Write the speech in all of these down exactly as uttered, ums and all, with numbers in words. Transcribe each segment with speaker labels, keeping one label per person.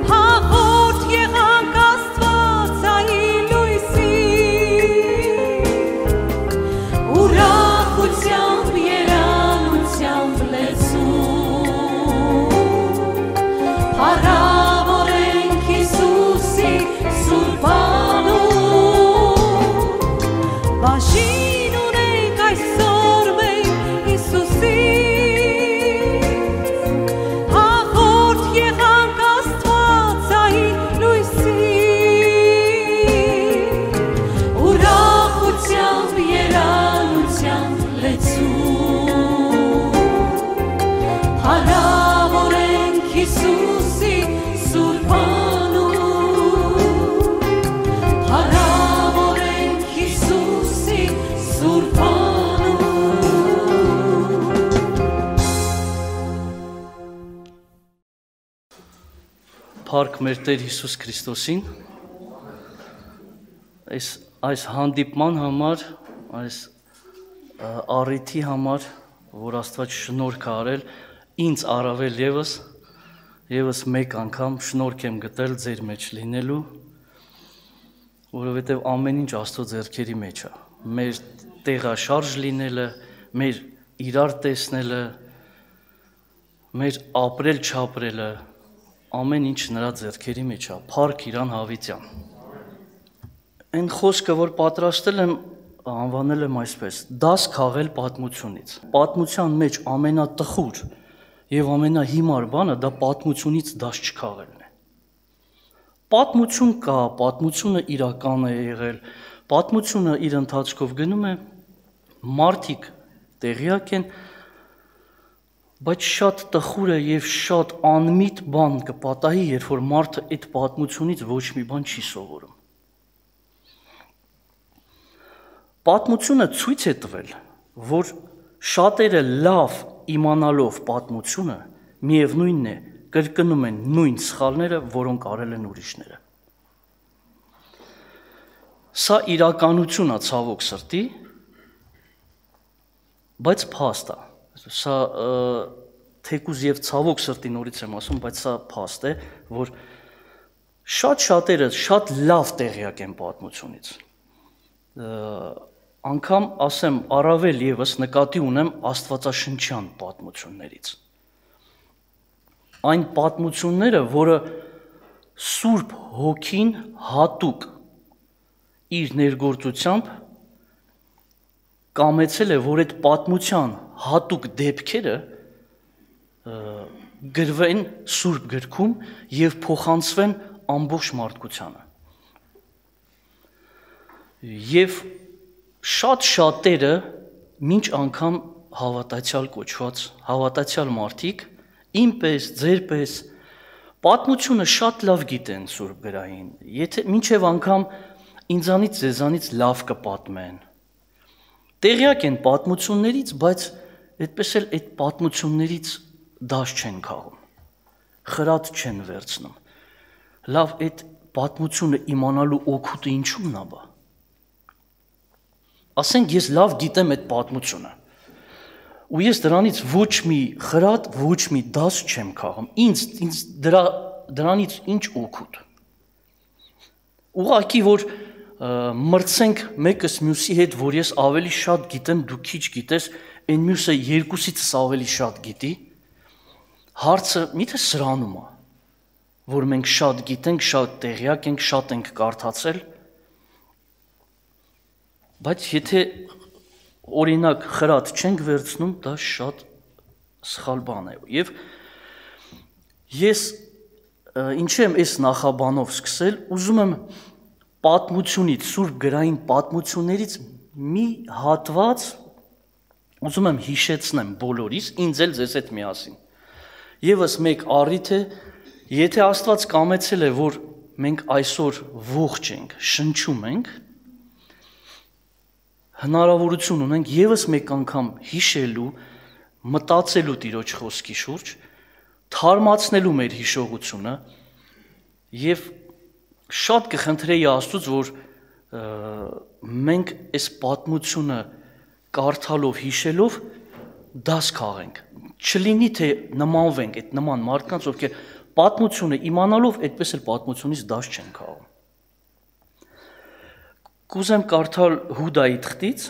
Speaker 1: Հաղորդ եղանք Աստվածային Փառք մեր Տեր Հիսուս Քրիստոսին, այս այս հանդիպման համար, այս առիթի համար, որ Աստված շնորհք է արել, ինձ առավել ևս, ևս մեկ անգամ շնորհք եմ գտել ձեր մեջ լինելու, որովհետև ամեն ինչ Աստծո ձեռքերի մեջ է, մեր տեղաշարժ լինելը, մեր իրար տեսնելը, մեր ապրել չապրելը, ամեն ինչ նրա ձեռքերի մեջ է, փառք իրան հավիտյան։ Այն խոսքը, որ պատրաստել եմ, անվանել եմ այսպես, դաս քաղել պատմությունից։ Պատմության մեջ ամենատխուր եւ ամենահիմար բանը դա պատմությունից դաս չքաղելն է։ Պատմություն կա, պատմությունը իրական է եղել, պատմությունը իր ընթացքով գնում է, մարդիկ տեղյակ են, բայց շատ տխուր է եւ շատ անմիտ բան կպատահի, երբ որ մարդը այդ պատմությունից ոչ մի բան չի սովորում։ Պատմությունը ցույց է տվել, որ շատերը լավ իմանալով պատմությունը, միևնույնն է, կրկնում են նույն սխալները, որոնք արել են ուրիշները։ Սա իրականություն է, ցավոք սրտի, բայց փաստ է։ Սա թեկուզ եւ ցավոք սրտի նորից եմ ասում, բայց սա փաստ է, որ շատ շատերը շատ լավ տեղյակ են պատմությունից։ Անգամ ասեմ, առավել եւս նկատի ունեմ աստվածաշնչյան պատմություններից։ Այն պատմությունները, որը Սուրբ Հոգին հատուկ իր ներգործությամբ կամեցել է, որ այդ պատմության հատուկ դեպքերը գրվեն Սուրբ գրքում եւ փոխանցվեն ամբողջ մարդկությանը։ Եվ շատ շատերը մինչ անգամ հավատացյալ կոչված, հավատացյալ մարդիկ, ինպես, ձերպես, պատմությունը շատ լավ գիտեն Սուրբ գրային, եթե մինչև անգամ ինձանից ձեզանից լավ կպատմեն։ Տեղյակ են պատմություններից, բայց այդպես էլ այդ պատմություններից դաս չեն քաղում, խրատ չեն վերցնում։ Լավ, այդ պատմությունը իմանալու օգուտը ինչու՞մն է բա։ Ասենք ես լավ գիտեմ այդ պատմությունը, ու ես դրանից ոչ մի խրատ, ոչ մի դաս չեմ քաղում, ինձ, ինձ դրա, դրանից ինչ օգուտ։ Ուղղակի, որ մրցենք մեկս մյուսի հետ, որ ես ավելի շատ գիտեմ, դու քիչ գիտես, այն մյուսը երկուսիցս ավելի շատ գիտի, հարցը միթե սրանում է, որ մենք շատ գիտենք, շատ տեղյակ ենք, շատ ենք կարդացել, բայց եթե օրինակ խրատ չենք վերցնում, դա շատ սխալ բան է։ Եվ ես ինչ եմ այս նախաբանով սկսել, ուզում եմ պատմությունից, Սուրբ գրային պատմություններից մի հատված ուզում եմ հիշեցնեմ բոլորիս, ինձ էլ ձեզ հետ միասին։ Եվս մեկ առիթ է, եթե Աստված կամեցել է, որ մենք այսօր ողջ ենք, շնչում ենք, հնարավորություն ունենք եւս մեկ անգամ հիշելու, մտածելու Տիրոջ խոսքի շուրջ, թարմացնելու մեր հիշողությունը եւ շատ կխնդրեի Աստծուց, որ մենք այս պատմությունը կարդալով, հիշելով դաս քաղենք, չլինի թե նմանվենք այդ նման մարդկանց, ովքեր պատմությունը իմանալով այդպես էլ պատմությունից դաս չեն քաղում։ Կուզեմ կարդալ Հուդայի թղթից,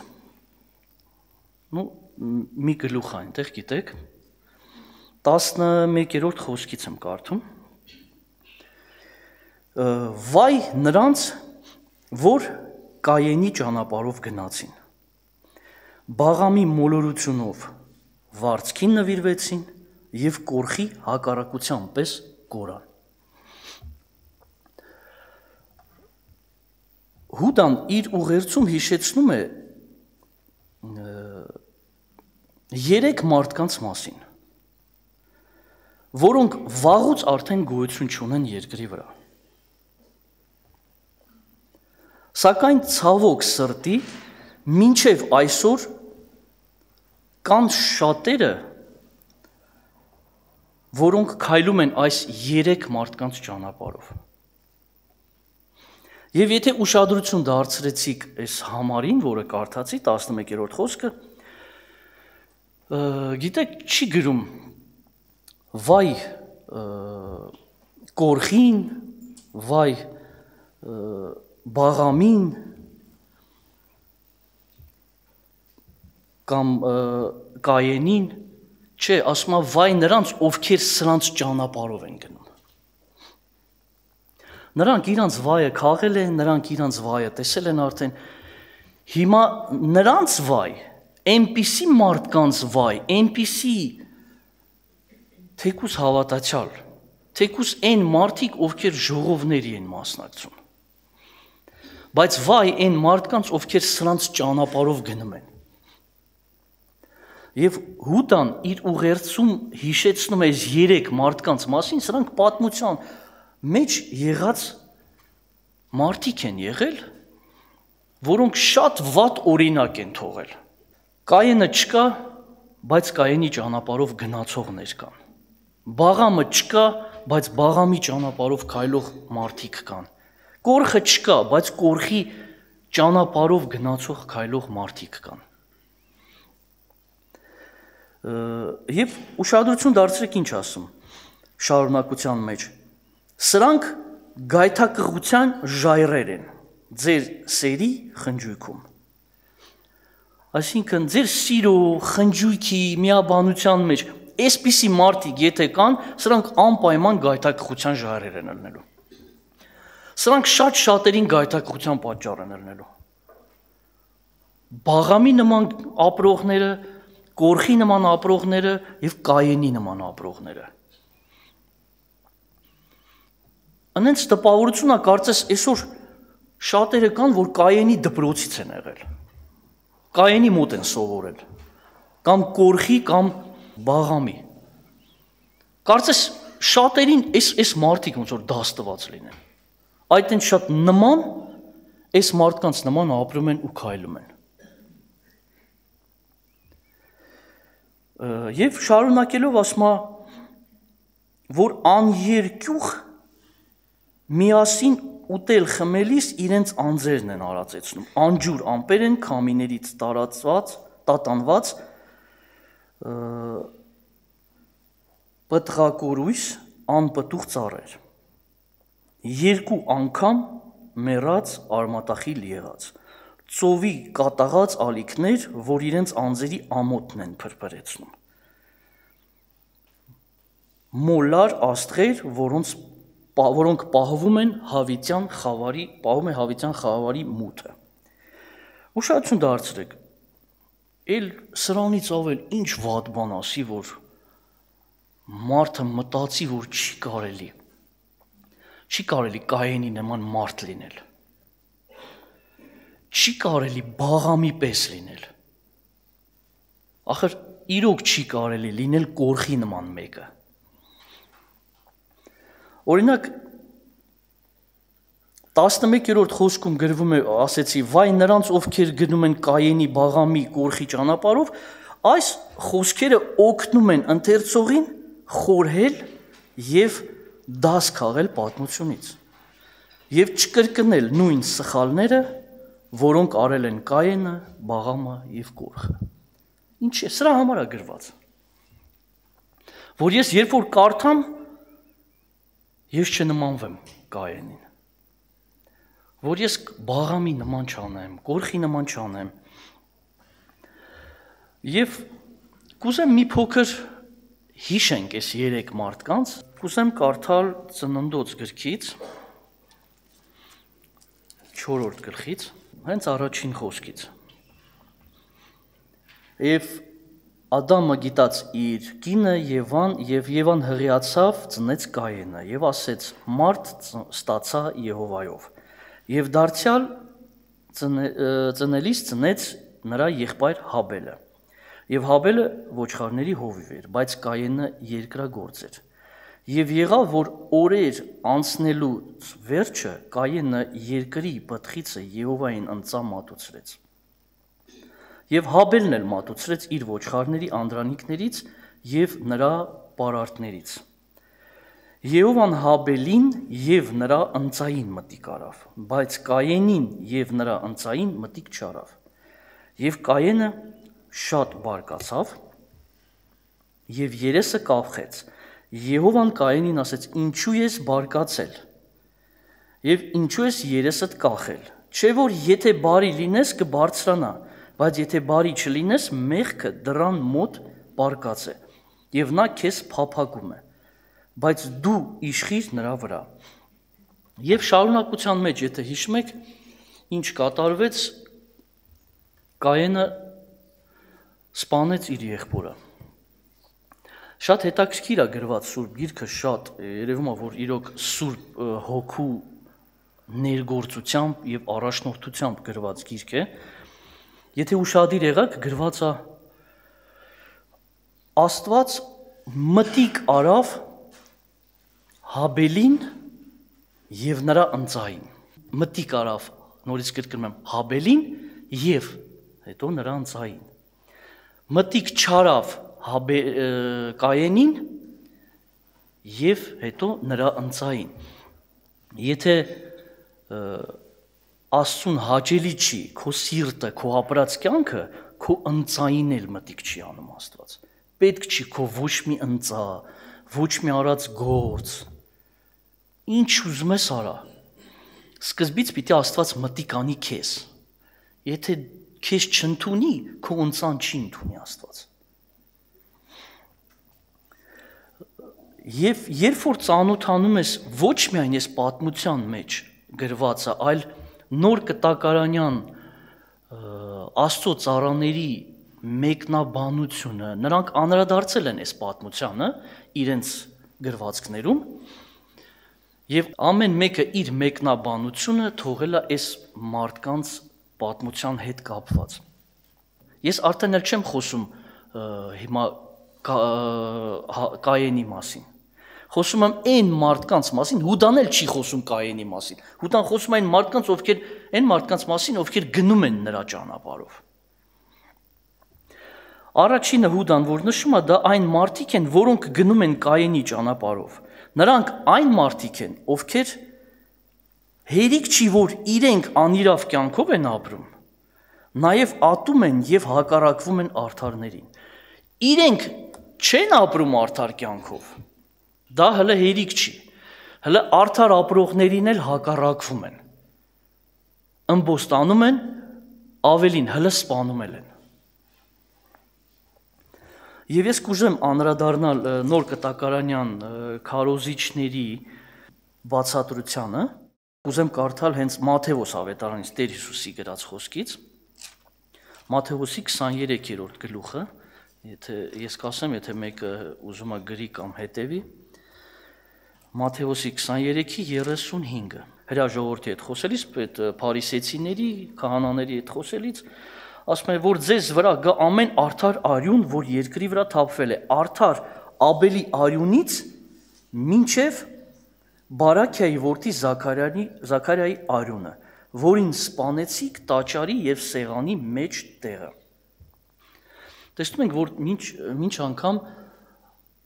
Speaker 1: նու մի գլուխ այնտեղ գիտեք, տասնմեկերորդ խոսքից եմ կարդում։ Վայ նրանց, որ Կայենի ճանապարհով գնացին, Բաղամի մոլորությունով վարձքին նվիրվեցին եւ կորխի հակառակության պես կորան։ Հուդան իր ուղերձում հիշեցնում է երեք մարդկանց մասին, որոնք վաղուց արդեն գոյություն չունեն երկրի վրա։ Սակայն ցավոք սրտի մինչև այսօր կան շատերը, որոնք քայլում են այս երեք մարդկանց ճանապարհով։ Եվ եթե ուշադրություն դարձրեցիք այս համարին, որը կարդացի, տասնմեկերորդ խոսքը, գիտեք, չի գրում վայ կորխին, վայ բաղամին կամ կայենին, չէ, ասում է վայ նրանց, ովքեր սրանց ճանապարհով են գնում։ Նրանք իրանց վայը քաղել են, նրանք իրանց վայը տեսել են արդեն, հիմա նրանց վայ, այնպիսի մարդկանց վայ, այնպիսի թեկուս հավատացյալ, թեկուս այն մարդիկ, ովքեր ժողովների են մասնակցում, բայց վայ այն մարդկանց, ովքեր սրանց ճանապարհով գնում են։ Եվ Հուդան իր ուղերձում հիշեցնում է այս երեք մարդկանց մասին, սրանք պատմության մեջ եղած մարդիկ են եղել, որոնք շատ վատ օրինակ են թողել։ Կայենը չկա, բայց Կայենի ճանապարհով գնացողներ կան։ Բաղամը չկա, բայց Բաղամի ճանապարհով քայլող մարդիկ կան։ Կորխը չկա, բայց Կորխի ճանապարհով գնացող քայլող մարդիկ կան։ Եվ ուշադրություն դարձրեք ինչ ասում շարունակության մեջ։ Սրանք գայթակղության ժայռեր են ձեր սերի խնջույքում։ Այսինքն ձեր սիրո, խնջույքի, միաբանության մեջ այսպիսի մարդիկ եթե կան, սրանք անպայման գայթակղության ժայռեր են ելնելու։ Սրանք շատ շատերին գայթակղության պատճառ են ելնելու։ Բաղամի նման ապրողները, Կորխի նման ապրողները և Կայենի նման ապրողները։ Անենց տպավորություն է, կարծես այսօր շատերը կան, որ Կայենի դպրոցից են եղել, Կայենի մոտ են սովորել, կամ Կորխի, կամ Բաղամի։ Կարծես շատերին այս մարդիկ ոնց որ դաս տված լինեն, այդ են շատ նման, այս մարդկանց նման ապրում են ու քայլում են։ Եվ շարունակելով ասում է, որ աներկյուղ միասին ուտել խմելիս իրենց անձերն են արածեցնում, անջուր ամպեր են քամիներից տարածված, տատանված, պտղակորույս, անպտուղ ծառեր, երկու անգամ մեռած արմատախիլ եղած, ծովի կատաղած ալիքներ, որ իրենց անձերի ամոթն են փրփրեցնում, մոլար աստղեր, որոնց որոնք պահվում են հավիտյան խավարի, պահում է հավիտյան խավարի մութը։ Ուշադրություն դարձրեք, էլ սրանից ավել ինչ վատ բան ասի, որ մարդը մտածի, որ չի կարելի, չի կարելի Կայենի նման մարդ լինել, չի կարելի Բաղամի պես լինել, ախր իրոք չի կարելի լինել Կորխի նման մեկը։ Օրինակ, տասնմեկերորդ խոսքում գրվում է, ասեցի, վայ նրանց, ովքեր գնում են Կայենի, Բաղամի, Կորխի ճանապարհով, այս խոսքերը օգնում են ընթերցողին խորհել և դաս քաղել պատմությունից և չկրկնել նույն սխալները, որոնք արել են Կայենը, Բաղամը և Կորխը։ Ինչ է, սրա համար է գրված, որ ես երբ որ կարդամ, ես չնմանվեմ Կայենին, որ ես Բաղամի նման չանեմ, Կորխի նման չանեմ, և կուզեմ մի փոքր հիշենք այս երեք մարդկանց, կուզեմ կարդալ Ծննդոց գրքից, չորրորդ գլխից, հենց առաջին խոսքից։ Եվ Ադամը գիտած իր կինը Եվան, և Եվան հղիացավ, ծնեց Կայենը, և ասեց. «Մարդ ստացա Եհովայով», և դարձյալ ծնելիս ծնեց նրա եղբայր Հաբելը, և Հաբելը ոչխարների հովիվ էր, բայց Կայենը երկրագործ էր։ Եվ եղավ, որ օրեր անցնելուց վերջը Կայենը երկրի պտղիցը Եհովային ընծա մատուցրեց։ Եվ Հաբելն էլ մատուցրեց իր ոչխարների անդրանիկներից և նրա պարարտներից։ Եհովան Հաբելին և նրա ընծային մտիկ արավ, բայց Կայենին և նրա ընծային մտիկ չարավ։ Եվ Կայենը շատ բարկացավ և երեսը կապխեց։ Եհովան Կայենին ասեց. «Ինչու ես բարկացել և ինչու ես երեսդ կախել, չէ որ եթե բարի լինես կբարձրանա, բայց եթե բարի չլինես, մեղքը դռան մոտ բարկած է, և նա քեզ փափագում է, բայց դու իշխիր նրա վրա»։ Եվ շարունակության մեջ, եթե հիշում եք, ինչ կատարվեց, Կայենը սպանեց իր եղբորը։ Շատ հետաքրքիր է գրված Սուրբ Գիրքը, շատ երևում է, որ իրոք Սուրբ Հոգու ներգործությամբ և առաջնորդությամբ գրված գիրք է։ Եթե ուշադիր եղաք, գրված է Աստված մտիկ արավ Հաբելին և նրա ընծային։ Մտիկ արավ, նորից կրկնում եմ, Հաբելին և հետո նրա ընծային։ Մտիկ չարավ Կայենին և հետո նրա ընծային։ Եթե Աստծուն հաճելի չի քո սիրտը, քո ապրած կյանքը, քո ընծային էլ մտիկ չի անում Աստված։ Պետք չի քո ոչ մի ընծա, ոչ մի արած գործ, ինչ ուզում ես արա։ Սկզբից պիտի Աստված մտիկ անի քեզ։ Եթե քեզ չընդունի, քո ընծան չի ընդունի Աստված։ Եվ երբ որ ծանոթանում ես ոչ միայն այս պատմության մեջ գրվածը, այլ նոր կտակարանյան Աստծո ծառաների մեկնաբանությունը, նրանք անդրադարձել են այս պատմությանը իրենց գրվածքներում, և ամեն մեկը իր մեկնաբանությունը թողել է այս մարդկանց պատմության հետ կապված։ Ես արդեն էլ չեմ խոսում հիմա Կայենի մասին, խոսում եմ այն մարդկանց մասին, Հուդան էլ չի խոսում Կայենի մասին, Հուդան խոսում է այն մարդկանց, ովքեր, այն մարդկանց մասին, ովքեր գնում են նրա ճանապարհով։ Առաջինը Հուդան, որ նշում է, դա այն մարդիկ են, որոնք գնում են Կայենի ճանապարհով։ Նրանք այն մարդիկ են, ովքեր հերիք չի, որ իրենք անիրավ կյանքով են ապրում, նաև ատում են և հակառակվում են արդարներին։ Իրենք չեն ապրում արդար կյանքով, դա հələ հերիք չի, հələ արդար ապրողներին էլ հակառակվում են, ըմբոստանում են, ավելին հələ սպանում են։ Եվ ես կուզեմ անդրադառնալ նոր կտակարանյան քարոզիչների բացատրությանը, կուզեմ կարդալ հենց Մատթեոս ավետարանից Տեր Հիսուսի գրած խոսքից, Մատթեոսի քսաներեքերորդ գլուխը, եթե ես կասեմ, եթե մեկը ուզում է գրի կամ հետևի, Մատթեոսի քսաներեքի երեսունհինգը, հրաժողովրդի հետ խոսելիս, այդ փարիսեցիների, քահանաների հետ խոսելիս, ասում է, որ ձեզ վրա գա ամեն արդար արյուն, որ երկրի վրա թափվել է, արդար Աբելի արյունից մինչև Բարաքիայի որդի Զաքարիայի արյունը, որին սպանեցիք տաճարի և սեղանի մեջ տեղը։ Տեսնում ենք, որ մինչ, մինչ անգամ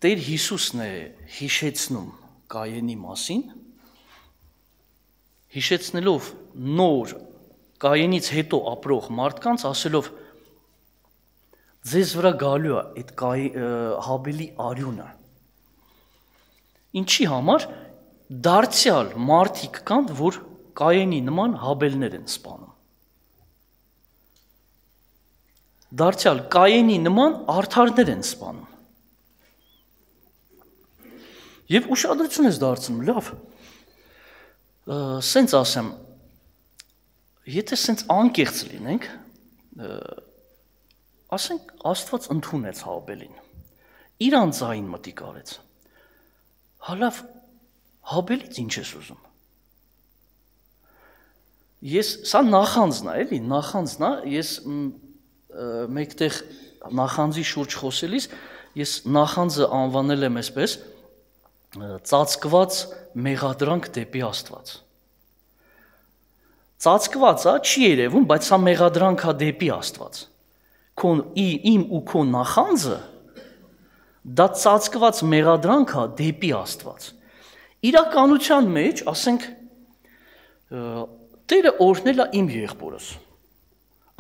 Speaker 1: Տեր Հիսուսն է հիշեցնում Կայենի մասին, հիշեցնելով նոր Կայենից հետո ապրող մարդկանց, ասելով ձեզ վրա գալու է այդ Հաբելի արյունը։ Ինչի համար դարձյալ մարդիկ կան, որ Կայենի նման Հաբելներ են սպանում։ Դարձյալ Կայենի նման արդարներ են սպանում։ Եվ ուշադրություն ես դարձնում, լավ, սենց ասեմ, եթե սենց անկեղծ լինենք, ասենք Աստված ընդունեց Հաբելին, իր անձային մտիկ արեց, հալավ Հաբելից ինչ ես ուզում։ Ես, սա նախանձն է, էլի, նախանձն է, ես մեկտեղ նախանձի շուրջ խոսելիս, ես նախանձը անվանել եմ այսպես, ծածկված մեղադրանք դեպի Աստված։ Ծածկված է, չի երևում, բայց սա մեղադրանք է դեպի Աստված։ Իմ ու քո նախանձը դա ծածկված մեղադրանք է դեպի Աստված։ Իրականության մեջ, ասենք, Տերը օրհնել է իմ եղբորս,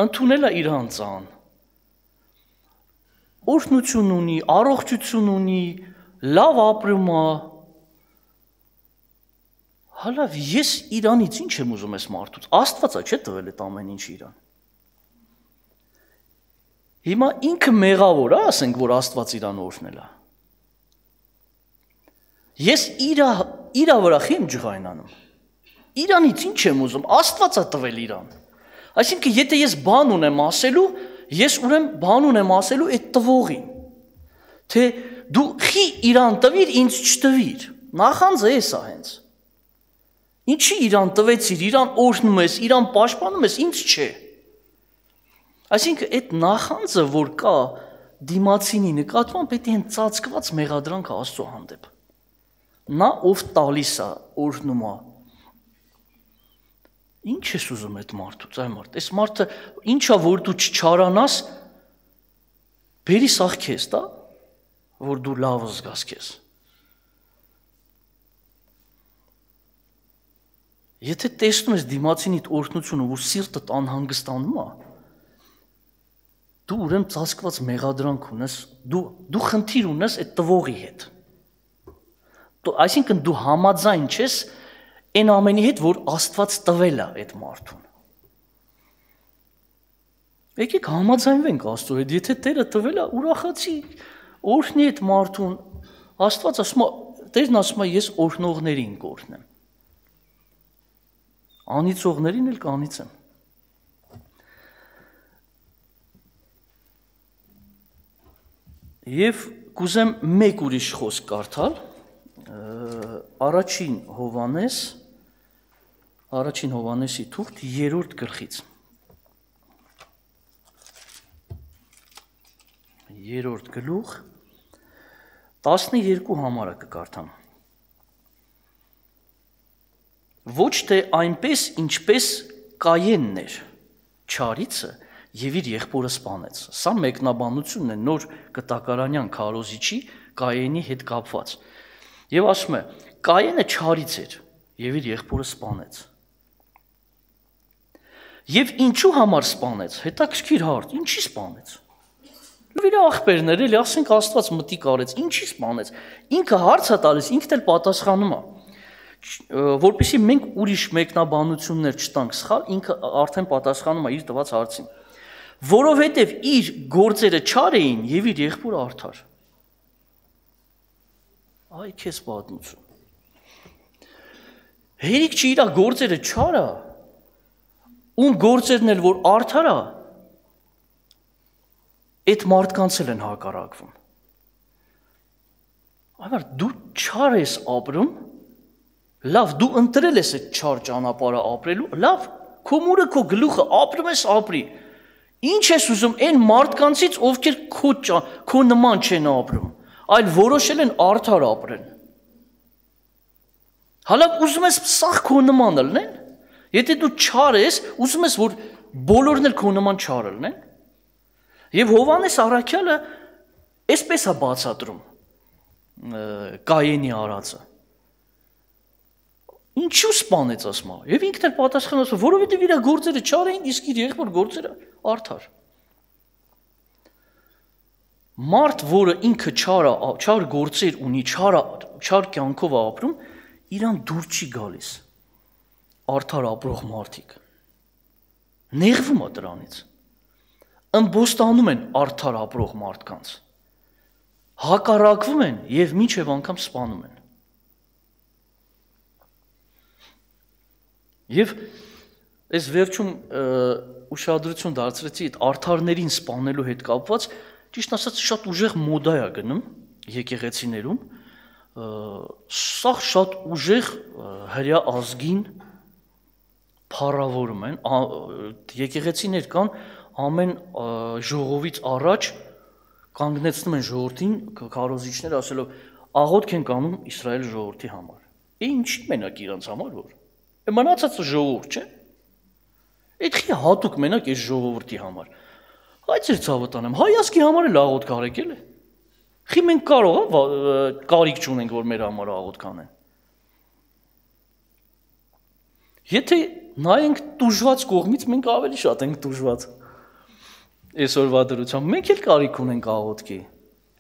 Speaker 1: ընդունել է իր անձան, օրհնություն ունի, առողջություն ունի, լավ ապրում է։ Հալավ, ես իրանից ինչ եմ ուզում ես մարդուց, Աստվածա չէ տվել այդ ամեն ինչ իրան։ Հիմա ինքը մեղավոր է, ասենք, որ Աստված իրան օրհնել է։ Ես իրա իրա վրա խիմ ջղայնանում։ Իրանից ինչ եմ ուզում, Աստված է տվել իրան։ Այսինքն, եթե ես բան ունեմ ասելու, ես ուրեմն բան ունեմ ասելու այդ տվողին։ Թե դու խի իրան տվիր, ինձ չտվիր։ Նախանձը էս է հենց։ Ինչի իրան տվեցիր, իրան օրհնում ես, իրան պաշտպանում ես, ինձ չէ։ Այսինքն, այդ նախանձը, որ կա դիմացինի նկատմամբ, պետք է հենց ծածկված մեղադրանքը Աստծո հանդեպ։ Նա ով տալիս է, օրհնում է։ Ինչ ես ուզում այդ մարդուց, այ մարդ, այս մարդը ինչա որ դու չչարանաս, բերի սաղ քեզ, դա, որ դու լավ զգաս քեզ։ Եթե տեսնում ես դիմացինիդ օրհնությունը, որ սիրտդ անհանգստանում է, դու ուրեմն ծածկված մեղադրանք ունես, դու դու խնդիր ունես այդ տվողի հետ։ Դու այսինքն դու համաձայն չես այն ամենի հետ, որ Աստված տվել է այդ մարդուն։ Եկեք համաձայնվենք Աստծո հետ, եթե Տերը տվել է, ուրախացի, օրհնի այդ մարդուն։ Աստված ասում է, Տերն ասում է, ես օրհնողներին կօրհնեմ։ Անիծողներին էլ կանիծեմ։ Եվ կուզեմ մեկ ուրիշ խոսք կարդալ, առաջին Հովհաննես, առաջին Հովհաննեսի թուղթ երրորդ գլխից։ Երրորդ գլուխ, տասներկու համարը կկարդամ։ Ոչ թե այնպես, ինչպես Կայենն էր, չարիցը, եւ իր եղբորը սպանեց։ Սա մեկնաբանությունն է նոր կտակարանյան քարոզիչի Կայենի հետ կապված։ Եվ ասում է, Կայենը չարից էր եւ իր եղբորը սպանեց։ Եվ ինչու համար սպանեց, հետաքրքիր հարց, ինչի սպանեց։ Իր ախպերներ էլի, ասենք Աստված մտիկ արեց, ինչի սպանեց։ Ինքը հարց է տալիս, ինքն էլ պատասխանում է։ Որպեսզի մենք ուրիշ մեկնաբանություններ չտանք սխալ, ինքը արդեն պատասխանում է իր տված հարցին։ Որովհետև իր գործերը չար էին եւ իր եղբորը արդար։ Այ քեզ պատմություն։ Հերիք չի իր գործերը չար է, ում գործերն էլ որ արդար է, այդ մարդկանց էլ են հակառակվում։ Այլ դու չար ես ապրում, լավ, դու ընտրել ես այդ չար ճանապարհը ապրելու, լավ, քո մուրը քո գլուխը ապրում ես ապրի։ Ինչ ես ուզում այն մարդկանցից, ովքեր քո քո նման չեն ապրում, այլ որոշել են արդար ապրեն։ Հալա ուզում ես սաղ քո նման լինեն։ Եթե դու չար ես, ուզում ես որ բոլորն էլ քո նման չար լինեն։ Եվ Հովհաննես առաքյալը այսպես է բացատրում Կայենի արածը։ Ինչու սպանեց ասում է։ Եվ ինքն էլ պատասխանում է, որովհետև իր գործերը չար էին, իսկ իր եղբոր գործերը արդար։ Մարդ, որը ինքը չար է, չար գործեր ունի, չար չար կյանքով է ապրում, իրան դուր չի գալիս։ Արդար ապրող մարդիկ նեղվում է դրանից։ Ըմբոստանում են արդար ապրող մարդկանց։ Հակառակվում են եւ մինչեւ անգամ սպանում են։ Եվ այս վերջում ուշադրություն դարձրեցի այդ արդարներին սպանելու հետ կապված, ճիշտ ասած շատ ուժեղ մոդա է գնում եկեղեցիներում, սա շատ ուժեղ հրյա ազգին փառավորում են, եկեղեցիներ կան ամեն ժողովից առաջ կանգնեցնում են ժողովրդին, քարոզիչները ասելով աղոթք են անում Իսրայել ժողովրդի համար։ Է ինչի մենակ իրանց համար որ։ Է մնացածը ժողովուրդ չէ։ Այդ խի հատուկ մենակ այս ժողովրդի համար։ Այդ ծեր ցավը տանեմ, հայ ազգի համար էլ աղոթք արեք էլի։ Խի մենք կարող է կարիք չունենք, որ մեր համար աղոթք անեն։ Եթե նայենք տուժված կողմից, մենք ավելի շատ ենք տուժված։ Այսօրվա դրությամբ մենք էլ կարիք ունենք աղոթքի,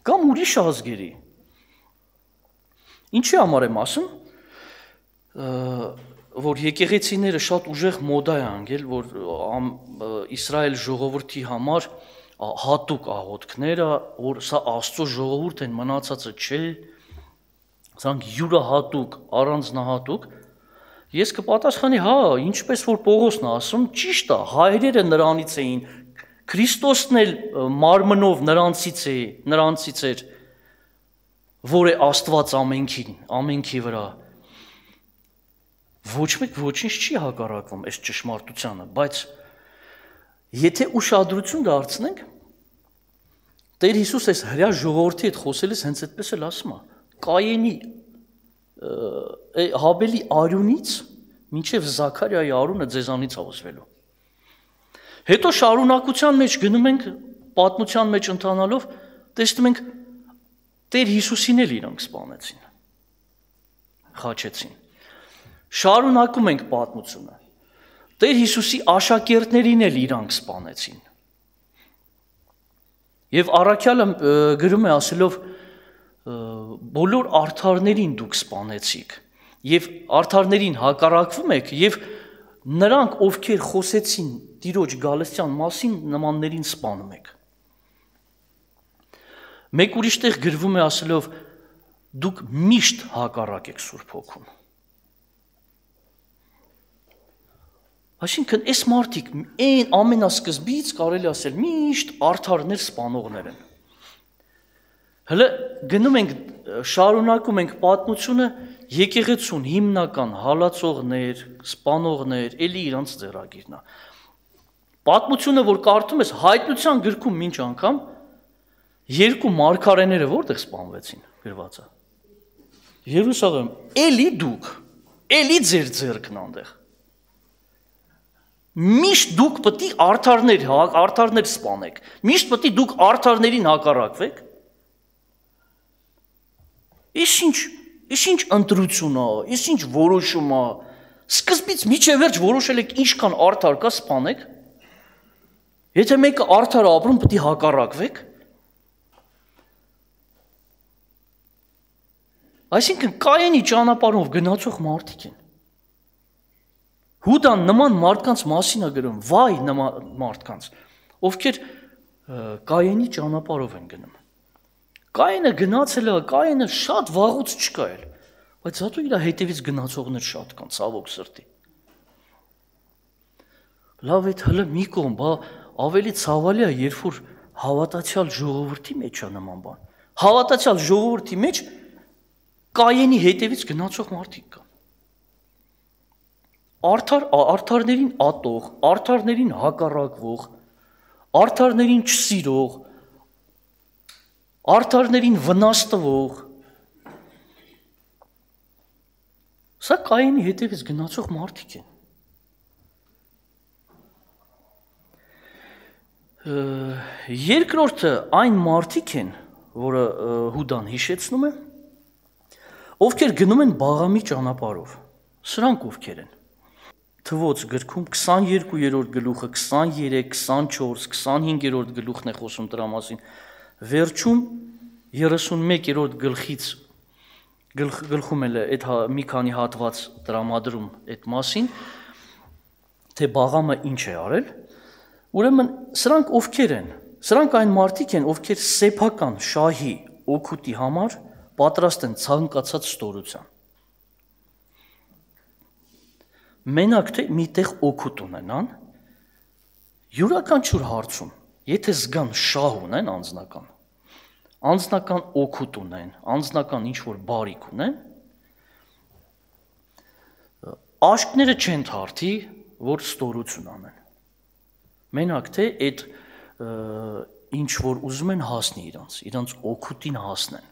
Speaker 1: կամ ուրիշ ազգերի։ Ինչի համար եմ ասում, որ եկեղեցիները շատ ուժեղ մոդա է անգել, որ Իսրայել ժողովրդի համար հատուկ աղոթքները, որ սա Աստծո ժողովուրդ են, մնացածը չէ, սրանք յուրահատուկ, առանձնահատուկ։ Ես կպատասխանի, հա, ինչպես որ Պողոսն է ասում, ճիշտ է, հայրերը նրանից էին, Քրիստոսն էլ մարմնով նրանցից է, նրանցից էր, որ է Աստված ամենքին, ամենքի վրա։ Ոչ մեկ ոչինչ չի հակառակվում այս ճշմարտությանը, բայց եթե ուշադրություն դարձնենք, Տեր Հիսուս այս հրյա ժողովրդի հետ խոսելիս հենց այդպես էլ ասում է, Կայենի Հաբելի արյունից մինչև Զաքարիայի արյունը ձեզանից է ուզվելու։ Հետո շարունակության մեջ գնում ենք, պատմության մեջ ընթանալով, տեսնում ենք Տեր Հիսուսին էլ իրանք սպանեցին, խաչեցին։ Շարունակում ենք պատմությունը։ Տեր Հիսուսի աշակերտներին էլ իրանք սպանեցին։ Եվ առաքյալը գրում է ասելով, բոլոր արդարներին դուք սպանեցիք, եւ արդարներին հակառակվում եք, եւ նրանք, ովքեր խոսեցին Տիրոջ գալստյան մասին, նմաններին սպանում եք։ Մեկ ուրիշ տեղ գրվում է ասելով, դուք միշտ հակառակ եք Սուրբ Հոգուն։ Այսինքն, այս մարդիկ այն ամենասկզբից կարելի ասել միշտ արդարներ սպանողներ են։ Հələ գնում ենք, շարունակում ենք պատմությունը, եկեղեցուն հիմնական հալածողներ, սպանողներ, էլի իրանց ձեռագիրն է։ Պատմությունը, որ կարդում ես, Հայտնության գրքում մինչ անգամ երկու մարգարեները որտեղ սպանվեցին, գրված է։ Երուսաղեմ, էլի դուք, էլի ձեր ձեռքն այնտեղ։ Միշտ դուք պետք է արդարներ, արդարներ սպանեք։ Միշտ պետք է դուք արդարներին հակառակվեք։ Իսկ ինչ, իսկ ինչ ընտրություն է, իսկ ինչ որոշում է։ Սկզբից միջև վերջ որոշել եք ինչքան արդար կա սպանեք։ Եթե մեկը արդար է ապրում, պետք է հակառակվեք։ Այսինքն Կայենի ճանապարհով գնացող մարդիկ են։ Հուդան նման մարդկանց մասին է գրում, վայ նման մարդկանց, ովքեր Կայենի ճանապարհով են գնում։ Կայենը գնացել է, Կայենը շատ վաղուց չկա էլ, բայց հատու իր հետևից գնացողներ շատ կան, ցավոք սրտի։ Լավ է, հələ մի կողմ, բա ավելի ցավալի է, երբ որ հավատացյալ ժողովրդի մեջ է նման բան։ Հավատացյալ ժողովրդի մեջ Կայենի հետևից գնացող մարդիկ կան։ Արդար, արդարներին ատող, արդարներին հակառակվող, արդարներին չսիրող, արդարներին վնաս տվող։ Սա Կայենի հետևից գնացող մարդիկ են։ Երկրորդը այն մարդիկ են, որը Հուդան հիշեցնում է, ովքեր գնում են Բաղամի ճանապարհով։ Սրանք ովքեր են։ Թվոց գրքում քսաներկուերորդ գլուխը, քսաներեք, քսանչորս, քսանհինգերորդ գլուխն է խոսում դրա մասին։ Վերջում երեսունմեկերորդ գլխից գլխում էլ է այդ մի քանի հատված տրամադրում այդ մասին, թե Բաղամը ինչ է արել։ Ուրեմն սրանք ովքեր են։ Սրանք այն մարդիկ են, ովքեր սեփական շահի օգուտի համար պատրաստ են ցանկացած ստորության։ Մենակ թե միտեղ օգուտ ունենան, յուրաքանչյուր հարցում, եթե զգան շահ ունեն անձնական, անձնական օգուտ ունեն, անձնական ինչ-որ բարիք ունեն, աշկները չեն թարթի, որ ստորություն անեն։ Մենակ թե այդ ինչ-որ ուզում են հասնի իրանց, իրանց օգուտին հասնեն։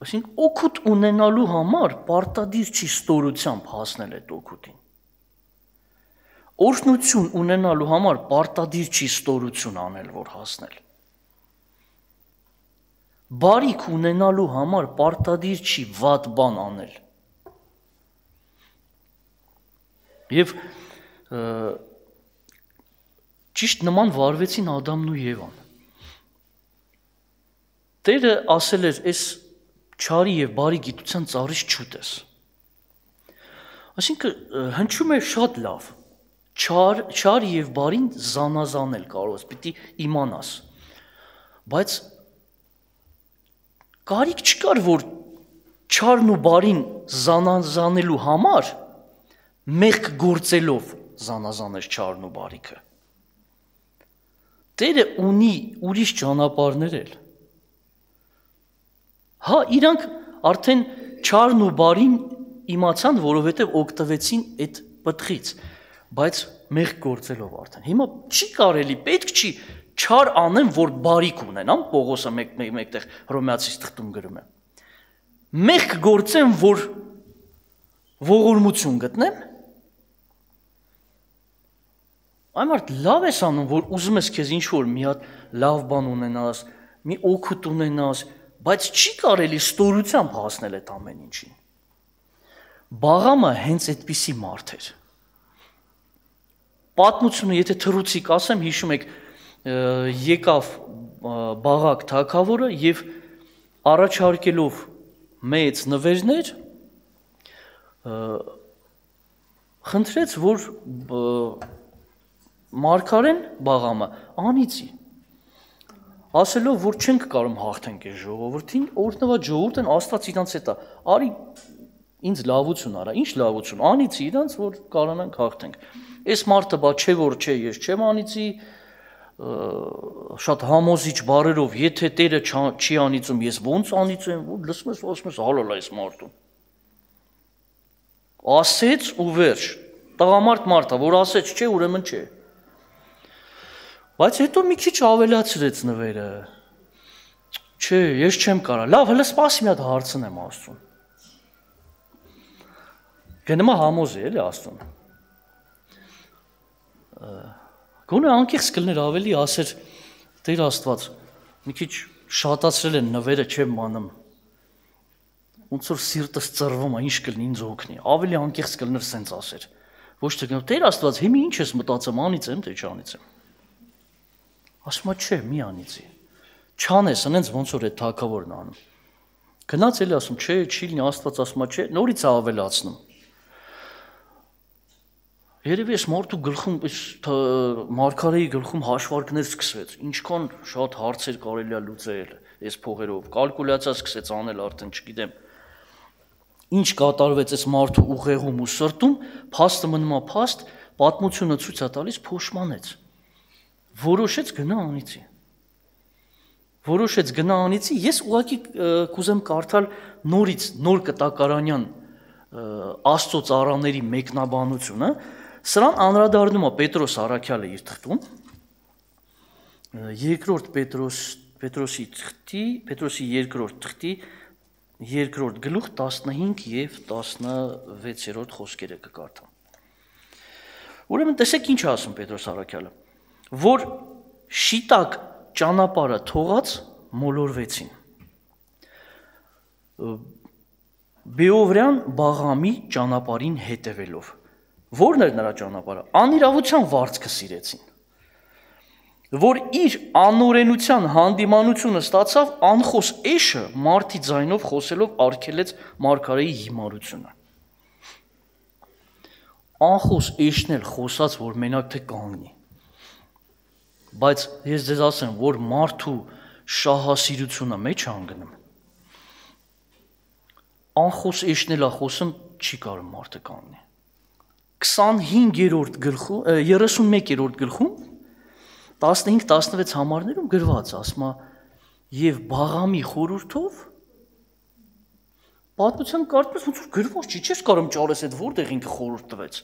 Speaker 1: Այսինքն օգուտ ունենալու համար պարտադիր չի ստորությամբ հասնել այդ օգուտին։ Օրհնություն ունենալու համար պարտադիր չի ստորություն անել, որ հասնել։ բարիք ունենալու համար պարտադիր չի վատ բան անել։ Եվ ճիշտ նման վարվեցին Ադամն ու Եվան։ Տերը ասել էր, այս չարի եւ բարի գիտության ծառից չուտես։ Այսինքն հնչում է շատ լավ։ Չար, չար եւ բարին զանազանել կարող ես, պիտի իմանաս։ Բայց կարիք չկար, որ չարն ու բարին զանազանելու համար մեղք գործելով զանազանես չարն ու բարիքը։ Տերը ունի ուրիշ ճանապարհներ էլ։ Հա, իրանք արդեն չարն ու բարին իմացան, որովհետև օգտվեցին այդ պտղից, բայց մեղք գործելով արդեն։ Հիմա չի կարելի, պետք չի չար անեմ, որ բարիք ունենամ, Պողոսը մեկտեղ Հռոմեացիս թղթում գրում է։ Մեղք գործեմ, որ ողորմություն գտնեմ։ Այմարդ լավ ես անում, որ ուզում ես քեզ ինչ-որ մի հատ լավ բան ունենաս, մի օգուտ ունենաս, բայց չի կարելի ստորությամբ հասնել այդ ամեն ինչին։ Բաղամը հենց այդպիսի մարդ էր։ Պատմությունը, եթե թռուցիկ ասեմ, հիշում եք, եկավ Բաղակ թագավորը եւ առաջարկելով մեծ նվերներ խնդրեց, որ մարգարեն Բաղամը անիծի, ասելով, որ չենք կարող հաղթենք այս ժողովրդին, օրհնված ժողովուրդն Աստված իրանց հետ է, արի ինձ լավություն արա, ինչ լավություն, անիծի իրանց, որ կարողանանք հաղթենք։ Այս մարդը բա չէ որ չէ, ես չեմ անիծի, շատ համոզիչ բառերով, եթե Տերը չի անիծում, ես ոնց անիծեմ, որ լսում ես, ասում ես հալալ այս մարդուն։ Ասեց ու վերջ, տղամարդ մարդը, որ ասեց չէ, ուրեմն չէ։ Բայց հետո մի քիչ ավելացրեց նվերը։ Չէ, ես չեմ կարա։ Լավ, հələ սպասի մի հատ հարցնեմ Աստծուն։ Գնա համոզ է, էլի Աստծուն։ Գոնե անկեղծ կլներ ավելի ասեր Տեր Աստված, մի քիչ շատացրել են նվերը, չեմ մանում։ Ոնց որ սիրտս ծռվում է, ինչ կլինի ինձ օգնի։ Ավելի անկեղծ կլներ սենց ասեր։ Ոչ թե գնա Տեր Աստված, հիմա ինչ ես մտածում, անիծեմ, թե չանիծեմ։ Ասում է չէ, մի անիծի։ Չանես, այնց ոնց որ է թագավորն անում։ Գնաց էլի ասում, չէ, չի լինի, Աստված ասում է չէ, նորից է ավելացնում։ Երևի այս մարդու գլխում, այս մարգարեի գլխում հաշվարկներ սկսվեց, ինչքան շատ հարցեր կարելի է լուծել այս փողերով, կալկուլյացիա սկսեց անել արդեն, չգիտեմ։ Ինչ կատարվեց այս մարդու ուղեղում ու սրտում, փաստը մնում է փաստ, պատմությունը ցույց է տալիս փոշմանեց։ Որոշեց գնա անիծի։ Որոշեց գնա անիծի, ես ուղղակի կուզեմ կարդալ նորից նոր կտակարանյան Աստծո ծառաների մեկնաբանությունը, սրան անդրադառնում է Պետրոս Առաքյալը իր թղթում, երկրորդ Պետրոս Պետրոսի թղթի, Պետրոսի երկրորդ թղթի երկրորդ գլուխ տասնհինգ եւ տասնվեցերորդ խոսքերը կկարդամ։ Ուրեմն տեսեք ինչ ասում Պետրոս Առաքյալը, որ շիտակ ճանապարհը թողած մոլորվեցին։ Բեովրյան Բաղամի ճանապարհին հետևելով։ Որն էր նրա ճանապարհը։ Անիրավության վարձքը սիրեցին, որ իր անօրենության հանդիմանությունը ստացավ անխոս էշը մարդի ձայնով խոսելով արգելեց մարգարեի հիմարությունը։ Անխոս էշն էլ խոսած, որ մենակ թե կանգնի։ Բայց ես ձեզ ասեմ, որ մարդու շահասիրությունը մեջ անգնում, անխոս էշնել է խոսում, չի կարող մարդը կանգնի։ քսանհինգերորդ գլխում, երեսունմեկերորդ գլխում, տասնհինգ տասնվեց համարներում գրված, ասում է, եւ Բաղամի խորհուրդով պատմության կարծում ես ոնց որ գրված չի, չես կարող ճարես այդ որտեղ ինքը խորհուրդ տվեց։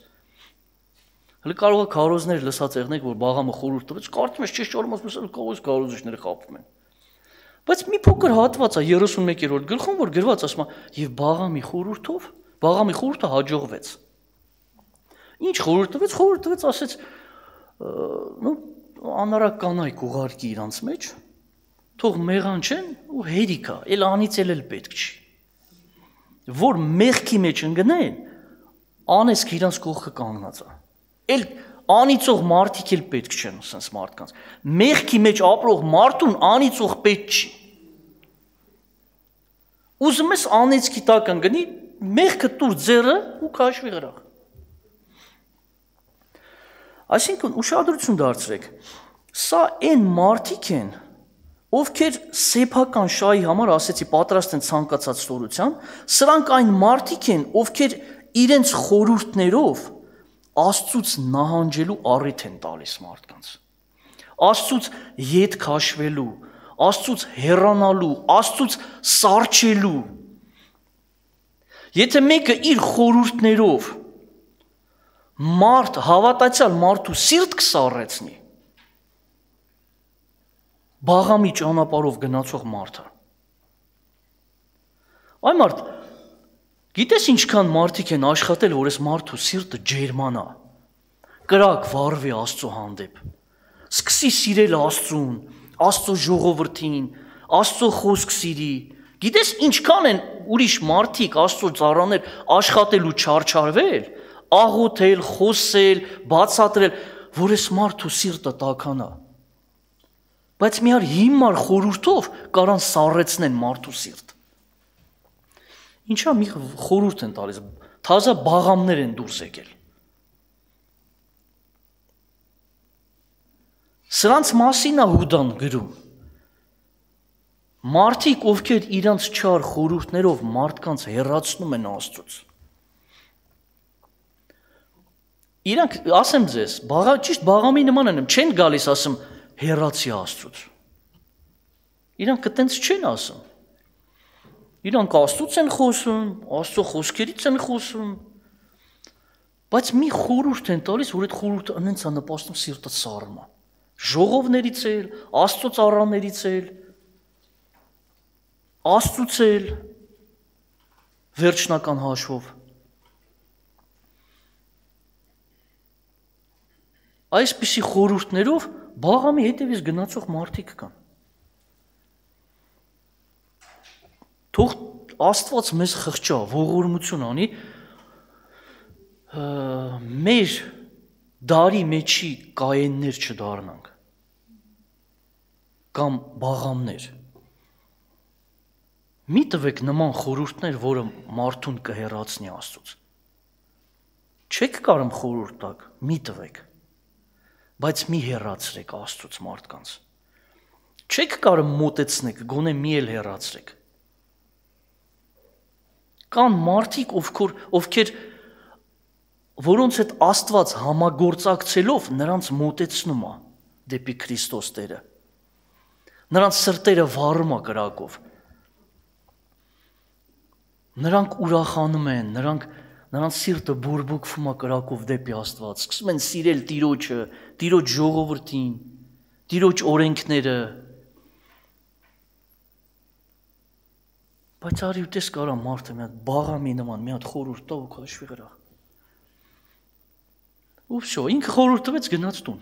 Speaker 1: Հələ կարող է քարոզներ լսած եղնեք, որ Բաղամը խորհուրդ տվեց, կարծում ես չես ճարում, ասում ես կողոս քարոզիչները խաբում են։ Բայց մի փոքր հատված է երեսունմեկերորդ գլխում, որ գրված ասում է, եւ Բաղամի խորհուրդով, Բաղամի խորհուրդը հաջողվեց։ Ինչ խորհուրդ տվեց, խորհուրդ տվեց, ասեց, նո անարակ կանայք ուղարկի իրանց մեջ, թող մեղան չեն ու հերիքա, էլ անից էլ էլ պետք չի։ Որ մեղքի մեջ ընկնեն, անեսք իրանց կողքը կանգնած է։ Էլ անիծող մարդիկ էլ պետք չեն, ասենց մարդկանց։ Մեղքի մեջ ապրող մարդուն անիծող պետք չի։ Ուզում ես անեծքի տակ ընկնի, մեղքը տուր ձեռը ու քաշվի գրախ։ Այսինքն ուշադրություն դարձրեք, սա այն մարդիկ են, ովքեր սեփական շահի համար, ասեցի, պատրաստ են ցանկացած ստորության, սրանք այն մարդիկ են, ովքեր իրենց խորհուրդներով Աստծուց նահանջելու առիթ են տալիս մարդկանց։ Աստծուց ետ քաշվելու, Աստծուց հեռանալու, Աստծուց սառչելու։ Եթե մեկը իր խորհուրդներով մարդ, հավատացյալ մարդու սիրտ կսառեցնի, բաղամի ճանապարհով գնացող մարդը։ Այ մարդ, գիտես ինչքան մարդիկ են աշխատել, որ այս մարդու սիրտը ջերմանա, կրակ վառվի Աստծո հանդեպ, սկսի սիրել Աստծուն, Աստծո ժողովրդին, Աստծո խոսք սիրի։ Գիտես ինչքան են ուրիշ մարդիկ, Աստծո ծառաներ աշխատել ու չարչարվել, աղոթել, խոսել, բացատրել, որ այս մարդու սիրտը տաքանա։ Բայց միար հիմար խորհուրդով կարան սառեցնեն մարդու սիրտ։ Ինչա մի խորհուրդ են տալիս, թազա բաղամներ են դուրս եկել։ Սրանց մասին է Հուդան գրում։ Մարդիկ, ովքեր իրանց չար խորհուրդներով մարդկանց հեռացնում են Աստծուց։ Իրանք, ասեմ ձեզ, ճիշտ բաղամի նման են, չեն գալիս ասում հեռացի Աստծուց։ Իրանք այտենց չեն ասում։ Իրանք Աստծուց են խոսում, Աստծո խոսքերից են խոսում, բայց մի խորհուրդ են տալիս, որ այդ խորհուրդը անենց է նպաստում սիրտը սառնա։ Ժողովներից էլ, Աստծո ծառաներից էլ, Աստծուց էլ, վերջնական հաշվով։ Այսպիսի խորհուրդներով բաղամի հետևից գնացող մարդիկ կան։ Թող Աստված մեզ խղճա, ողորմություն անի, մեր դարի մեջի կայեններ չդառնանք, կամ բաղամներ։ Մի տվեք նման խորհուրդներ, որը մարդուն կհեռացնի Աստծուց։ Չեք կարում խորհուրդ տակ, մի տվեք, բայց մի հեռացրեք Աստծուց մարդկանց։ Չեք կարում մոտեցնեք, գոնե մի էլ հեռացրեք։ Կան մարդիկ, ովքեր, ովքեր որոնց հետ Աստված համագործակցելով նրանց մոտեցնում է դեպի Քրիստոս Տերը։ Նրանց սրտերը վառում է կրակով։ Նրանք ուրախանում են, նրանք նրանց սիրտը բուրբուկվում է կրակով դեպի Աստված, սկսում են սիրել Տիրոջը, Տիրոջ ժողովրդին, Տիրոջ օրենքները։ Բայց արի ու տես կարա մարդը մի հատ բաղամի նման, մի հատ խորհուրդ տա ու քաշվի գրախ։ Ու վсё, ինքը խորհուրդ տվեց, գնաց տուն։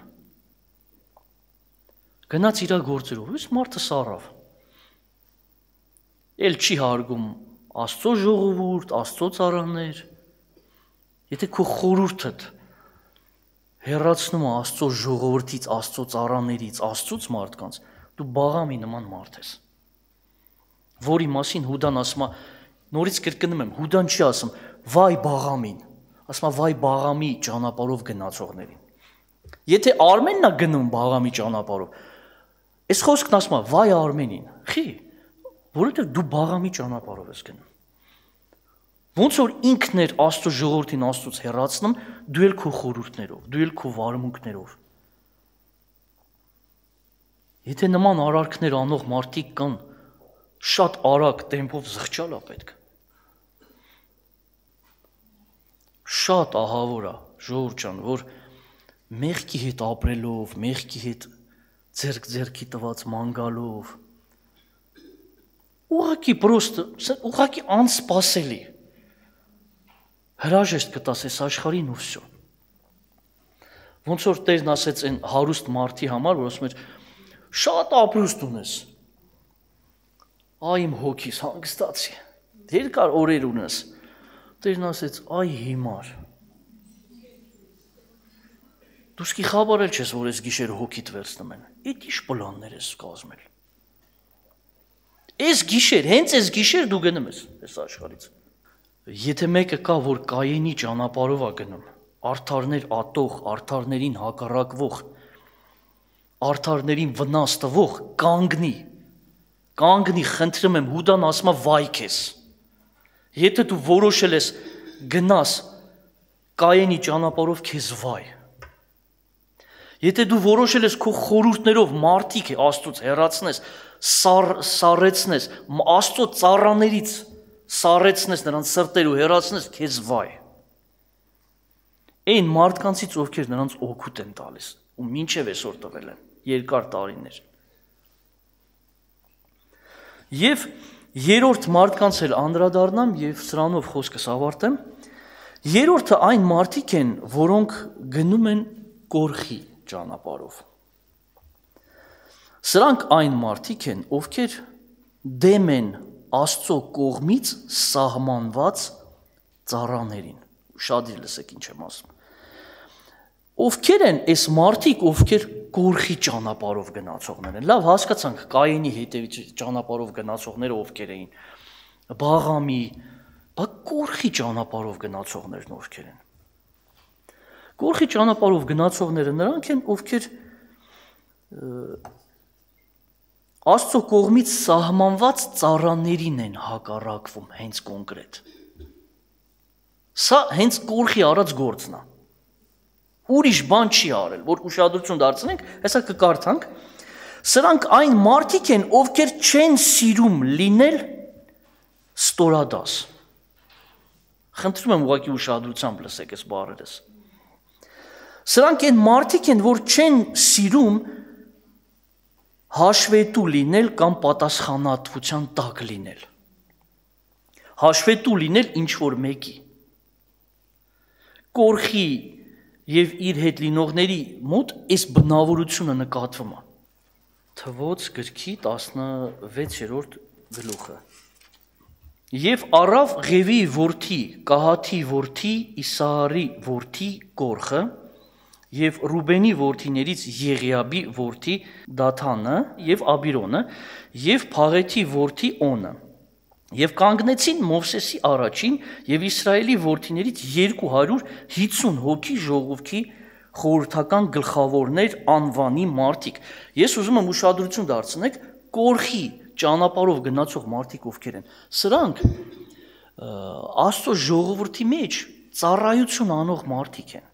Speaker 1: Գնաց իր գործերով, իս մարդը սառավ։ Էլ չի հարգում Աստծո ժողովուրդ, Աստծո ծառաներ։ Եթե քո խորհուրդդ հեռացնում է Աստծո ժողովրդից, Աստծո ծառաներից, Աստծուց մարդկանց, դու բաղամի նման մարդ ես։ Որի մասին Հուդան ասում է, նորից կրկնում եմ, Հուդան չի ասում, վայ բաղամին, ասում է, վայ բաղամի ճանապարհով գնացողներին։ Եթե Արմենն է գնում բաղամի ճանապարհով, այս խոսքն ասում է, վայ Արմենին, խի, որովհետև դու բաղամի ճանապարհով ես գնում։ Ոնց որ ինքն էր Աստծո ժողովրդին Աստծուց հեռացնում, դու էլ քո խորհուրդներով, դու էլ քո վարմունքներով։ Եթե նման արարքներ անող մարդիկ կան, շատ արագ տեմպով զղջալ է պետք։ Շատ ահավոր է, ժողովուրդ ջան, որ մեղքի հետ ապրելով, մեղքի հետ ձերք-ձերքի տված ման գալով, ուղղակի պրոստը, ուղղակի անսպասելի հրաժեշտ կտաս այս աշխարհին ու վсё։ Ոնց որ Տերն ասեց այն հարուստ մարդի համար, որ ասում էր, շատ ապրուստ ունես, Այ իմ հոգիս հանգստացի։ Երկար օրեր ունես։ Տերն ասեց, այ հիմար։ Դու սկի խաբարել չես, որ ես գիշեր հոգիդ վերցնում են։ Էդ ինչ պլաններ ես կազմել։ Ես գիշեր, հենց ես գիշեր դու գնում ես այս աշխարհից։ Եթե մեկը կա, որ Կայենի ճանապարհով է գնում, արդարներ ատող, արդարներին հակառակվող, արդարներին վնաս տվող, կանգնի։ Կանգնի, խնդրում եմ, Հուդան ասում է վայ քեզ։ Եթե դու որոշել ես գնաս Կայենի ճանապարհով, քեզ վայ։ Եթե դու որոշել ես քո խորհուրդներով մարդիկ Աստծուց հեռացնես, սար, սառեցնես, Աստծո ծառաներից սառեցնես, նրանց սրտերու հեռացնես, քեզ վայ։ Այն մարդկանցից, ովքեր նրանց օգուտ են տալիս, ու մինչև այսօր տվել են, երկար տարիներ։ Եվ երրորդ մարդկանց էլ անդրադառնամ եւ սրանով խոսքս ավարտեմ։ Երրորդը այն մարդիկ են, որոնք գնում են կորխի ճանապարհով։ Սրանք այն մարդիկ են, ովքեր դեմ են Աստծո կողմից սահմանված ծառաներին։ Շատ լսեք ինչ եմ ասում։ Ովքեր են այս մարդիկ, ովքեր կորխի ճանապարհով գնացողներ են։ Լավ, հասկացանք Կայենի հետևից ճանապարհով գնացողները ովքեր էին։ Բաղամի, բա կորխի ճանապարհով գնացողներն ովքեր են։ Կորխի ճանապարհով գնացողները նրանք են, ովքեր Աստծո կողմից սահմանված ծառաներին են հակառակվում հենց կոնկրետ։ Սա հենց կորխի արած գործն է։ Ուրիշ բան չի արել, որ ուշադրություն դարձնենք, հեսա կկարդանք։ Սրանք այն մարդիկ են, ովքեր չեն սիրում լինել ստորադաս։ Խնդրում եմ ուղղակի ուշադրությամբ լսեք այս բառերս։ Սրանք այն մարդիկ են, որ չեն սիրում հաշվետու լինել կամ պատասխանատվության տակ լինել։ Հաշվետու լինել ինչ-որ մեկի։ Կորխի և իր հետ լինողների մոտ այս բնավորությունը նկատվում է։ Թվոց գրքի տասնվեցերորդ գլուխը։ Եվ առավ Ղևի որդի, Կահաթի որդի, Իսահարի որդի Կորխը, և Ռուբենի որդիներից Եղիաբի որդի Դաթանը և Աբիրոնը և Փաղեթի որդի Օնը և կանգնեցին Մովսեսի առաջին և Իսրայելի որդիներից երկու հարյուր հիսուն հոգի ժողովքի խորհրդական գլխավորներ անվանի մարդիկ։ Ես ուզում եմ ուշադրություն դարձնեք կորխի ճանապարհով գնացող մարդիկ ովքեր են։ Սրանք Աստծո ժողովրդի մեջ ծառայություն անող մարդիկ են։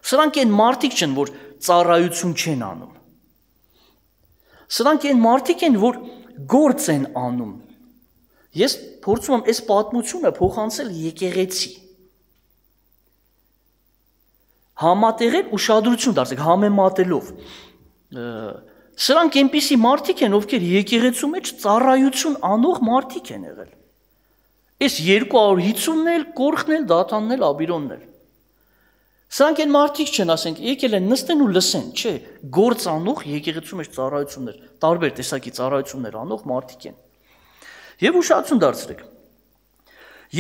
Speaker 1: Սրանք են մարդիկ չեն, որ ծառայություն չեն անում։ Սրանք են մարդիկ են, որ գործ են անում։ Ես փորձում եմ այս պատմությունը փոխանցել եկեղեցի։ Համատեղել ուշադրություն դարձեք, համեմատելով։ Սրանք այնպիսի մարդիկ են, ովքեր եկեղեցու մեջ ծառայություն անող մարդիկ են եղել։ Այս երկու հարյուր հիսունն էլ, Կորխն էլ, Դաթանն էլ, Աբիրոնն էլ։ Սրանք են մարդիկ չեն, ասենք, եկել են նստեն ու լսեն, չէ, գործ անող եկեղեցու մեջ ծառայություններ, տարբեր տեսակի ծառայություններ անող մարդիկ են։ Եվ ուշադրություն դարձրեք։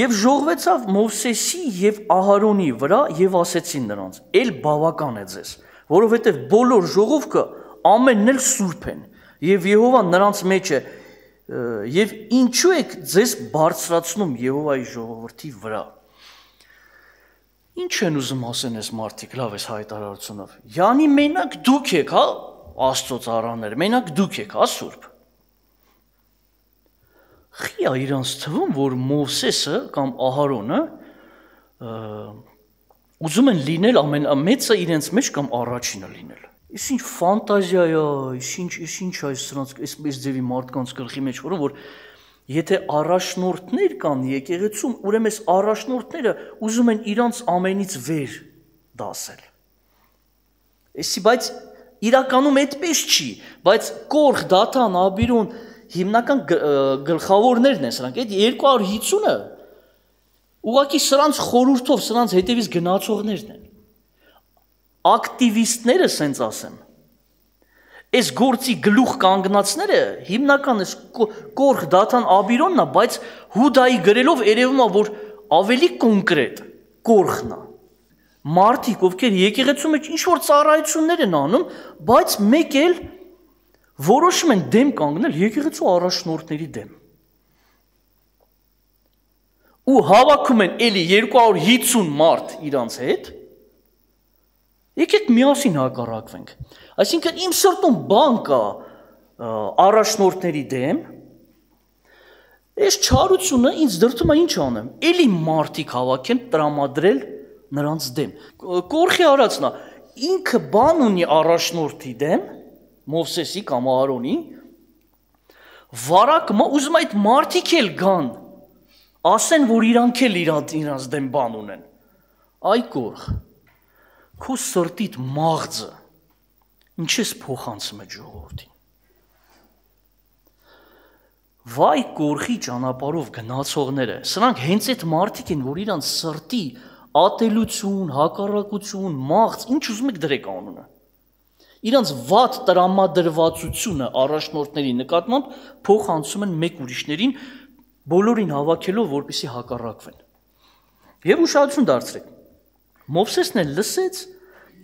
Speaker 1: Եվ ժողվեցավ Մովսեսի եւ Ահարոնի վրա եւ ասեցին նրանց. «Էլ բավական է ձեզ, որովհետեւ բոլոր ժողովքը ամենն էլ սուրբ են, եւ Եհովան նրանց մեջ է, եւ ինչու եք ձեզ բարձրացնում Եհովայի ժողովրդի վրա»։ Ինչ են ուզում ասեն այս մարդիկ, լավ էս հայտարարությունով։ Յանի մենակ դուք եք, հա, Աստծո ծառաներ, մենակ դուք եք, հա, սուրբ։ Խի է իրանց թվում, որ Մովսեսը կամ Ահարոնը ուզում են լինել ամենամեծը իրենց մեջ կամ առաջինը լինել։ Ის ինչ ֆանտազիա է, ինչ ինչ է սրանց այս ձևի մարդկանց գլխի մեջ, որ եթե առաջնորդներ կան եկեղեցում, ուրեմն այս առաջնորդները ուզում են իրանց ամենից վեր դասել։ Էսի բայց իրականում այդպես չի, բայց Կորխ, Դաթան, Աբիրոն հիմնական գլխավորներն են սրանք, այդ երկու հարյուր հիսունը ուղղակի սրանց խորհրդով, սրանց հետևից գնացողներն են։ Ակտիվիստները, սենց ասեմ, Այս գործի գլուխ կանգնածները հիմնական էս Կորխ Դաթան Աբիրոնն է, բայց Հուդայի գրելով երևում է, որ ավելի կոնկրետ Կորխն է։ Մարդիկ, ովքեր եկեղեցու մեջ ինչ որ ծառայություններ են անում, բայց մեկ էլ որոշում են դեմ կանգնել եկեղեցու առաջնորդների դեմ։ Ու հավաքում են էլի երկու հարյուր հիսուն մարդ իրանց հետ, եկեք միասին հակառակվենք։ Այսինքն իմ սրտում բան կա առաջնորդների դեմ, այս չարությունը ինձ դրդում է ինչ անեմ, էլի մարդիկ հավաքեն տրամադրել նրանց դեմ։ Կորխի արածն է, ինքը բան ունի առաջնորդի դեմ, Մովսեսի կամ Ահարոնի, վարակը ուզում այդ մարդիկ էլ գան, ասեն, որ իրանք էլ իրանց դեմ բան ունեն։ Այ Կորխ, քո սրտիդ մաղձը ինչ ես փոխանցում է ժողովրդին։ Վայ Կորխի ճանապարհով գնացողները, սրանք հենց այդ մարդիկ են, որ իրանց սրտի ատելություն, հակառակություն, մաղձ, ինչ ուզում եք դրեք անունը։ Իրանց վատ տրամադրվածությունը առաջնորդների նկատմամբ փոխանցում են մեկ ուրիշներին, բոլորին հավաքելով, որպեսզի հակառակվեն։ Եվ ուշադրություն դարձրեք։ Մովսեսն էլ լսեց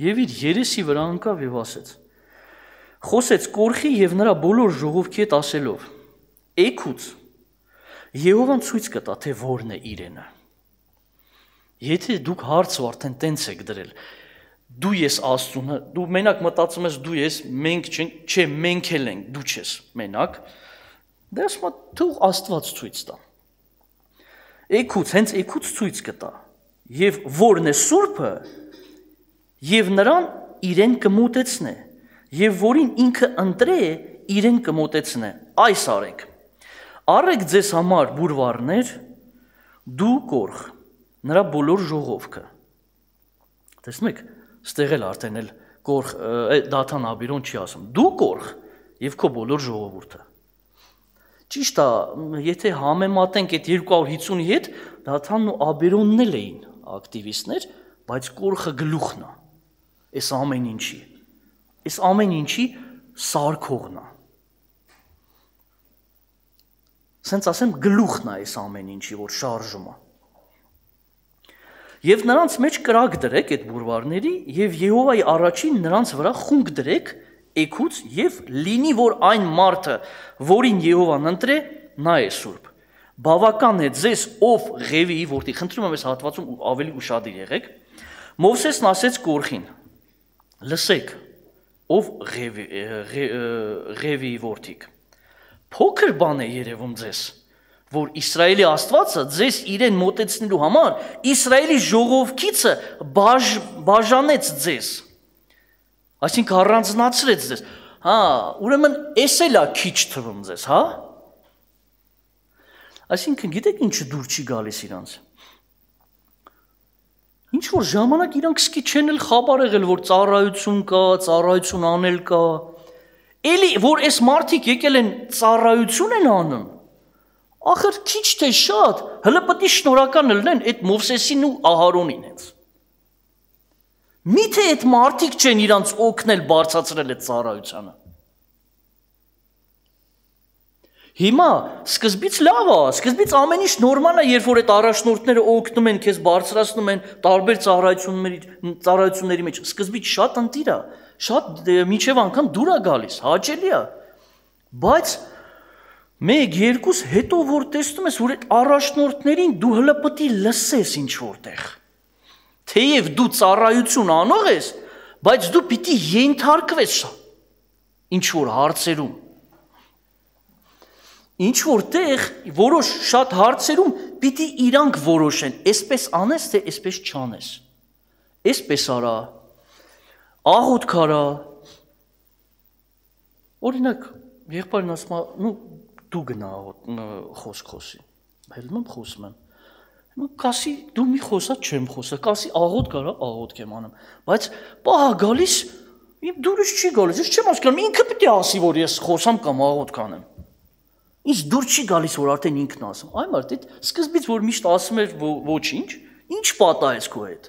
Speaker 1: եւ իր երեսի վրա ընկավ եւ ասեց. Խոսեց Կորխի եւ նրա բոլոր ժողովքի հետ ասելով. Էգուց Եհովան ցույց կտա, թե որն է իրենը։ Եթե դուք հարցը արդեն տենց եք դրել, դու ես Աստծուն, դու մենակ մտածում ես դու ես, մենք չենք, չէ, մենք էլ ենք, դու չես մենակ, դե ասում եմ թող Աստված ցույց տա։ Էգուց, հենց էգուց ցույց կտա։ Եվ որն է սուրբը, եւ նրան իրեն կմոտեցնե, եւ որին ինքը ընտրե, իրեն կմոտեցնե։ Այս արեք։ Առեք ձեզ համար բուրվարներ, դու Կորխ, նրա բոլոր ժողովքը։ Տեսնում եք, ստեղ էլ արդեն էլ Կորխ Դաթան Աբիրոն չի ասում։ Դու Կորխ եւ քո բոլոր ժողովուրդը։ Ճիշտ է, եթե համեմատենք այդ երկու հարյուր հիսունի հետ, Դաթանն ու Աբիրոնն էլ էին ակտիվիստներ, բայց Կորխը գլուխն է։ Այս ամեն ինչի։ Այս ամեն ինչի սարքողն է։ Սենց ասեմ գլուխն է այս ամեն ինչի, որ շարժում է։ Եվ նրանց մեջ կրակ դրեք այդ բուրվարների եւ Եհովայի առաջին նրանց վրա խունկ դրեք էգուց եւ լինի, որ այն մարդը, որին Եհովան ընտրե, նա է սուրբ։ Բավական է ձեզ ով Ղևի, որտի խնդրում եմ այս հատվածում ավելի ուշադիր եղեք։ Մովսեսն ասեց Կորխին. Լսեք, ով Ղևի, Ղևի որդիկ։ Փոքր բան է երևում ձեզ, որ Իսրայելի Աստվածը ձեզ իրեն մոտեցնելու համար Իսրայելի ժողովքիցը բաժ, բաժանեց ձեզ։ Այսինքն առանձնացրեց ձեզ։ Հա, ուրեմն էս էլ է քիչ թվում ձեզ, հա։ Այսինքն գիտեք ինչը դուր չի գալիս իրանց։ Ինչ որ ժամանակ իրանք սկի չեն էլ խաբար եղել, որ ծառայություն կա, ծառայություն անել կա։ Էլի որ այս մարդիկ եկել են ծառայություն են անում, ախր քիչ թե շատ, հələ պետք է շնորհական լինեն այդ Մովսեսին ու Ահարոնին հենց։ Միթե այդ մարդիկ չեն իրանց օգնել բարձրացրել այդ ծառայությանը։ Հիմա սկզբից լավ է, սկզբից ամեն ինչ նորմալ է, երբ որ այդ առաջնորդները օգնում են, քեզ բարձրացնում են տարբեր ծառայությունների ծառայությունների մեջ, սկզբից շատ ընտիր է, շատ միջև անգամ դուր է գալիս, հաճելի է։ Բայց մեկ, երկուս հետո որ տեսնում ես, որ այդ առաջնորդներին դու հələ պետք է լսես ինչ որտեղ։ Թեև դու ծառայություն անող ես, բայց դու պիտի ենթարկվես ինչ որ հարցերում։ Ինչ որտեղ որոշ շատ հարցերում պիտի իրանք որոշեն, այսպես անես, թե այսպես չանես։ Այսպես արա, աղոթք արա։ Օրինակ, եղբայրն ասում է, նու դու գնա խոսք խոսի։ Հելնում եմ խոսում եմ։ Հիմա կասի դու մի խոսա չեմ խոսա, կասի աղոթք արա, աղոթք եմ անում։ Բայց պահա գալիս, իմ դուրս չի գալիս, ես չեմ հասկանում, ինքը պիտի ասի, որ ես խոսամ կամ աղոթք անեմ։ Ինչ դուր չի գալիս, որ արդեն ինքն ասում։ Այ մարդ, այդ սկզբից որ միշտ ասում էր ոչինչ, ինչ պատահեց քո հետ։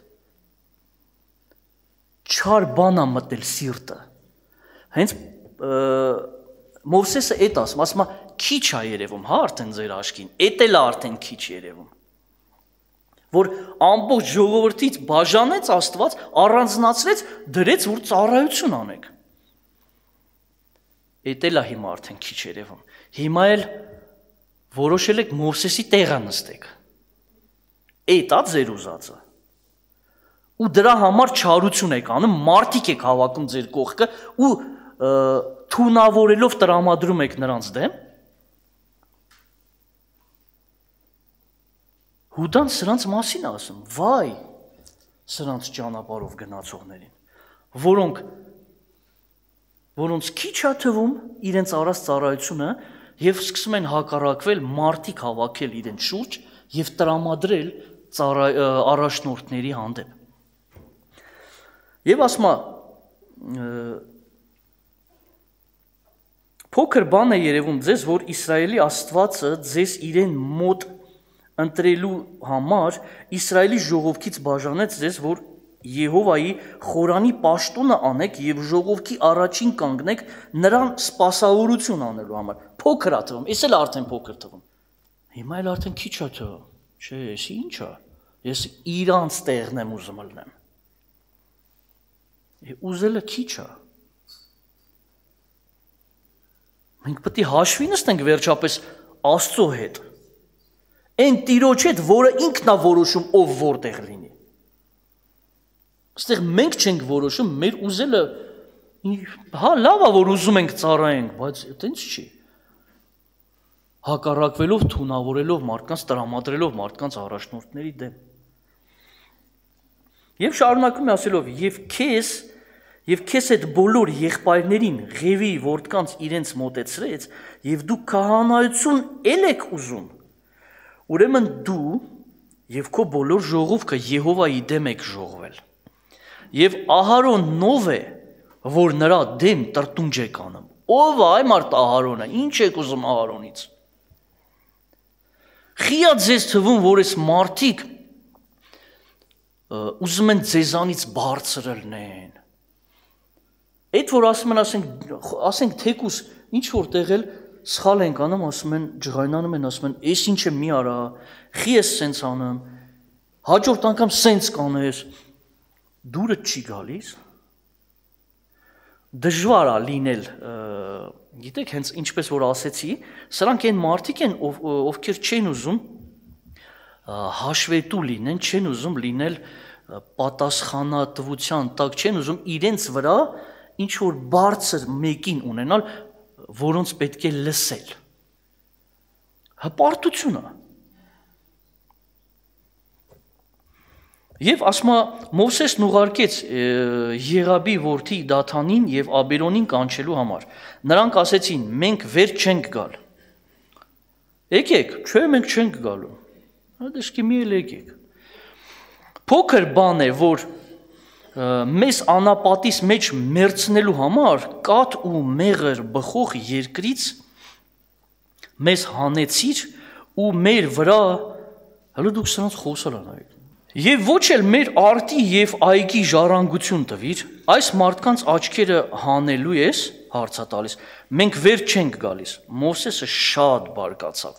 Speaker 1: Չար բան ա մտել սիրտը։ Հենց Մովսեսը էդ ասում, ասում է քիչ է երևում, հա արդեն ձեր աշկին, էդ էլ է արդեն քիչ երևում, որ ամբողջ ժողովրդից բաժանեց Աստված, առանձնացրեց, դրեց, որ ծառայություն անեք։ Էդ էլ է հիմա արդեն քիչ երևում, հիմա էլ որոշել եք Մովսեսի տեղը նստեք, էդ է ձեր ուզածը, ու դրա համար չարություն եք անում, մարդիկ եք հավաքում ձեր կողքը ու թունավորելով տրամադրում եք նրանց դեմ, Հուդան սրանց մասին է ասում, վայ, սրանց ճանապարհով գնացողներին, որոնք որոնց քիչ է թվում իրենց արած ծառայությունը եւ սկսում են հակառակվել, մարդիկ հավաքել իրենց շուրջ եւ տրամադրել առաջնորդների հանդեպ։ Եվ ասում է փոքր բան է երևում ձեզ, որ Իսրայելի Աստվածը ձեզ իրեն մոտ ընտրելու համար Իսրայելի ժողովքից բաժանեց ձեզ, որ Եհովայի խորանի պաշտոնը անեք եւ ժողովքի առաջին կանգնեք նրան սպասավորություն անելու համար։ Փոքր է թվում, ես էլ արդեն փոքր թվում։ Հիմա էլ արդեն քիչ է թվում։ Չէ, ես ինչ է։ Ես իրանց տեղն եմ ուզում ելնեմ։ Ուզելը քիչ է։ Մենք պետք է հաշվի նստենք վերջապես Աստծո հետ։ Այն Տիրոջ հետ, որը ինքն է որոշում, ով որտեղ լինի։ Այստեղ մենք չենք որոշում, մեր ուզելը, հա, լավ է, որ ուզում ենք ծառայենք, բայց այտենց չի։ Հակառակվելով, թունավորելով մարդկանց, տրամադրելով մարդկանց առաջնորդների դեմ։ Եվ շարունակում է ասելով, եւ քեզ, եւ քեզ այդ բոլոր եղբայրներին Ղևի որդկանց իրենց մոտեցրեց, եւ դու քահանայություն ել եք ուզում։ Ուրեմն դու եւ քո բոլոր ժողովքը Եհովայի դեմ եք ժողվել։ Եվ Ահարոն նով է, որ նրա դեմ տրտունջ եք անում։ Ով է այ մարդ Ահարոնը, ինչ եք ուզում Ահարոնից։ Խիա ձեզ թվում, որ այս մարդիկ ուզում են ձեզանից բարձր ելնեն։ Այդ որ ասում են, ասենք, ասենք թեկուս ինչ որ տեղել սխալ ենք անում, ասում են, ջղայնանում են, ասում են, «Էս ինչը մի արա, խի ես սենց անում, հաջորդ անգամ սենց կանես», դուրը չի գալիս, դժվար է լինել, գիտեք, հենց ինչպես որ ասեցի, սրանք այն մարդիկ են, ովքեր չեն ուզում հաշվետու լինեն, չեն ուզում լինել պատասխանատվության տակ, չեն ուզում իրենց վրա ինչ որ բարձր մեկին ունենալ, որոնց պետք է լսել։ Հպարտությունը։ Եվ ասում է Մովսեսն ուղարկեց Եղաբի որդի Դաթանին եւ Աբերոնին կանչելու համար։ Նրանք ասեցին. մենք վեր չենք գալ։ Եկեք, չէ, մենք չենք գալու։ Հադեշկի մի էլ եկեք։ Փոքր բան է, որ մեզ անապատիս մեջ մերցնելու համար կաթ ու մեղր բխող երկրից մեզ հանեցիր ու մեր վրա, հələ դուք սրանց խոսալ անայք։ Եվ ոչ էլ մեր արտի եւ այգի ժառանգություն տվիր, այս մարդկանց աչքերը հանելու ես, հարցա տալիս, մենք վեր չենք գալիս։ Մովսեսը շատ բարկացավ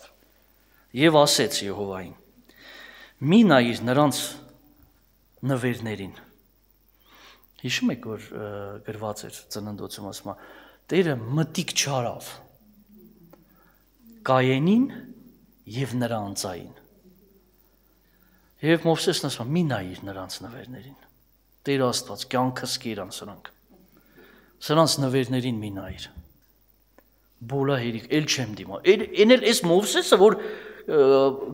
Speaker 1: եւ ասեց Եհովային. մի նայիր նրանց նվերներին։ Հիշում եք, որ գրված էր ծննդոցում, ասում է, Տերը մտիկ չարավ Կայենին եւ նրա անձային։ Եվ Մովսեսն ասում է, մի նայիր նրանց նվերներին։ Տեր Աստված, կյանքս կերան սրանք։ Սրանց նվերներին մի նայիր։ Բոլա հերիք, էլ չեմ դիմա։ Էն էլ էս Մովսեսը, որ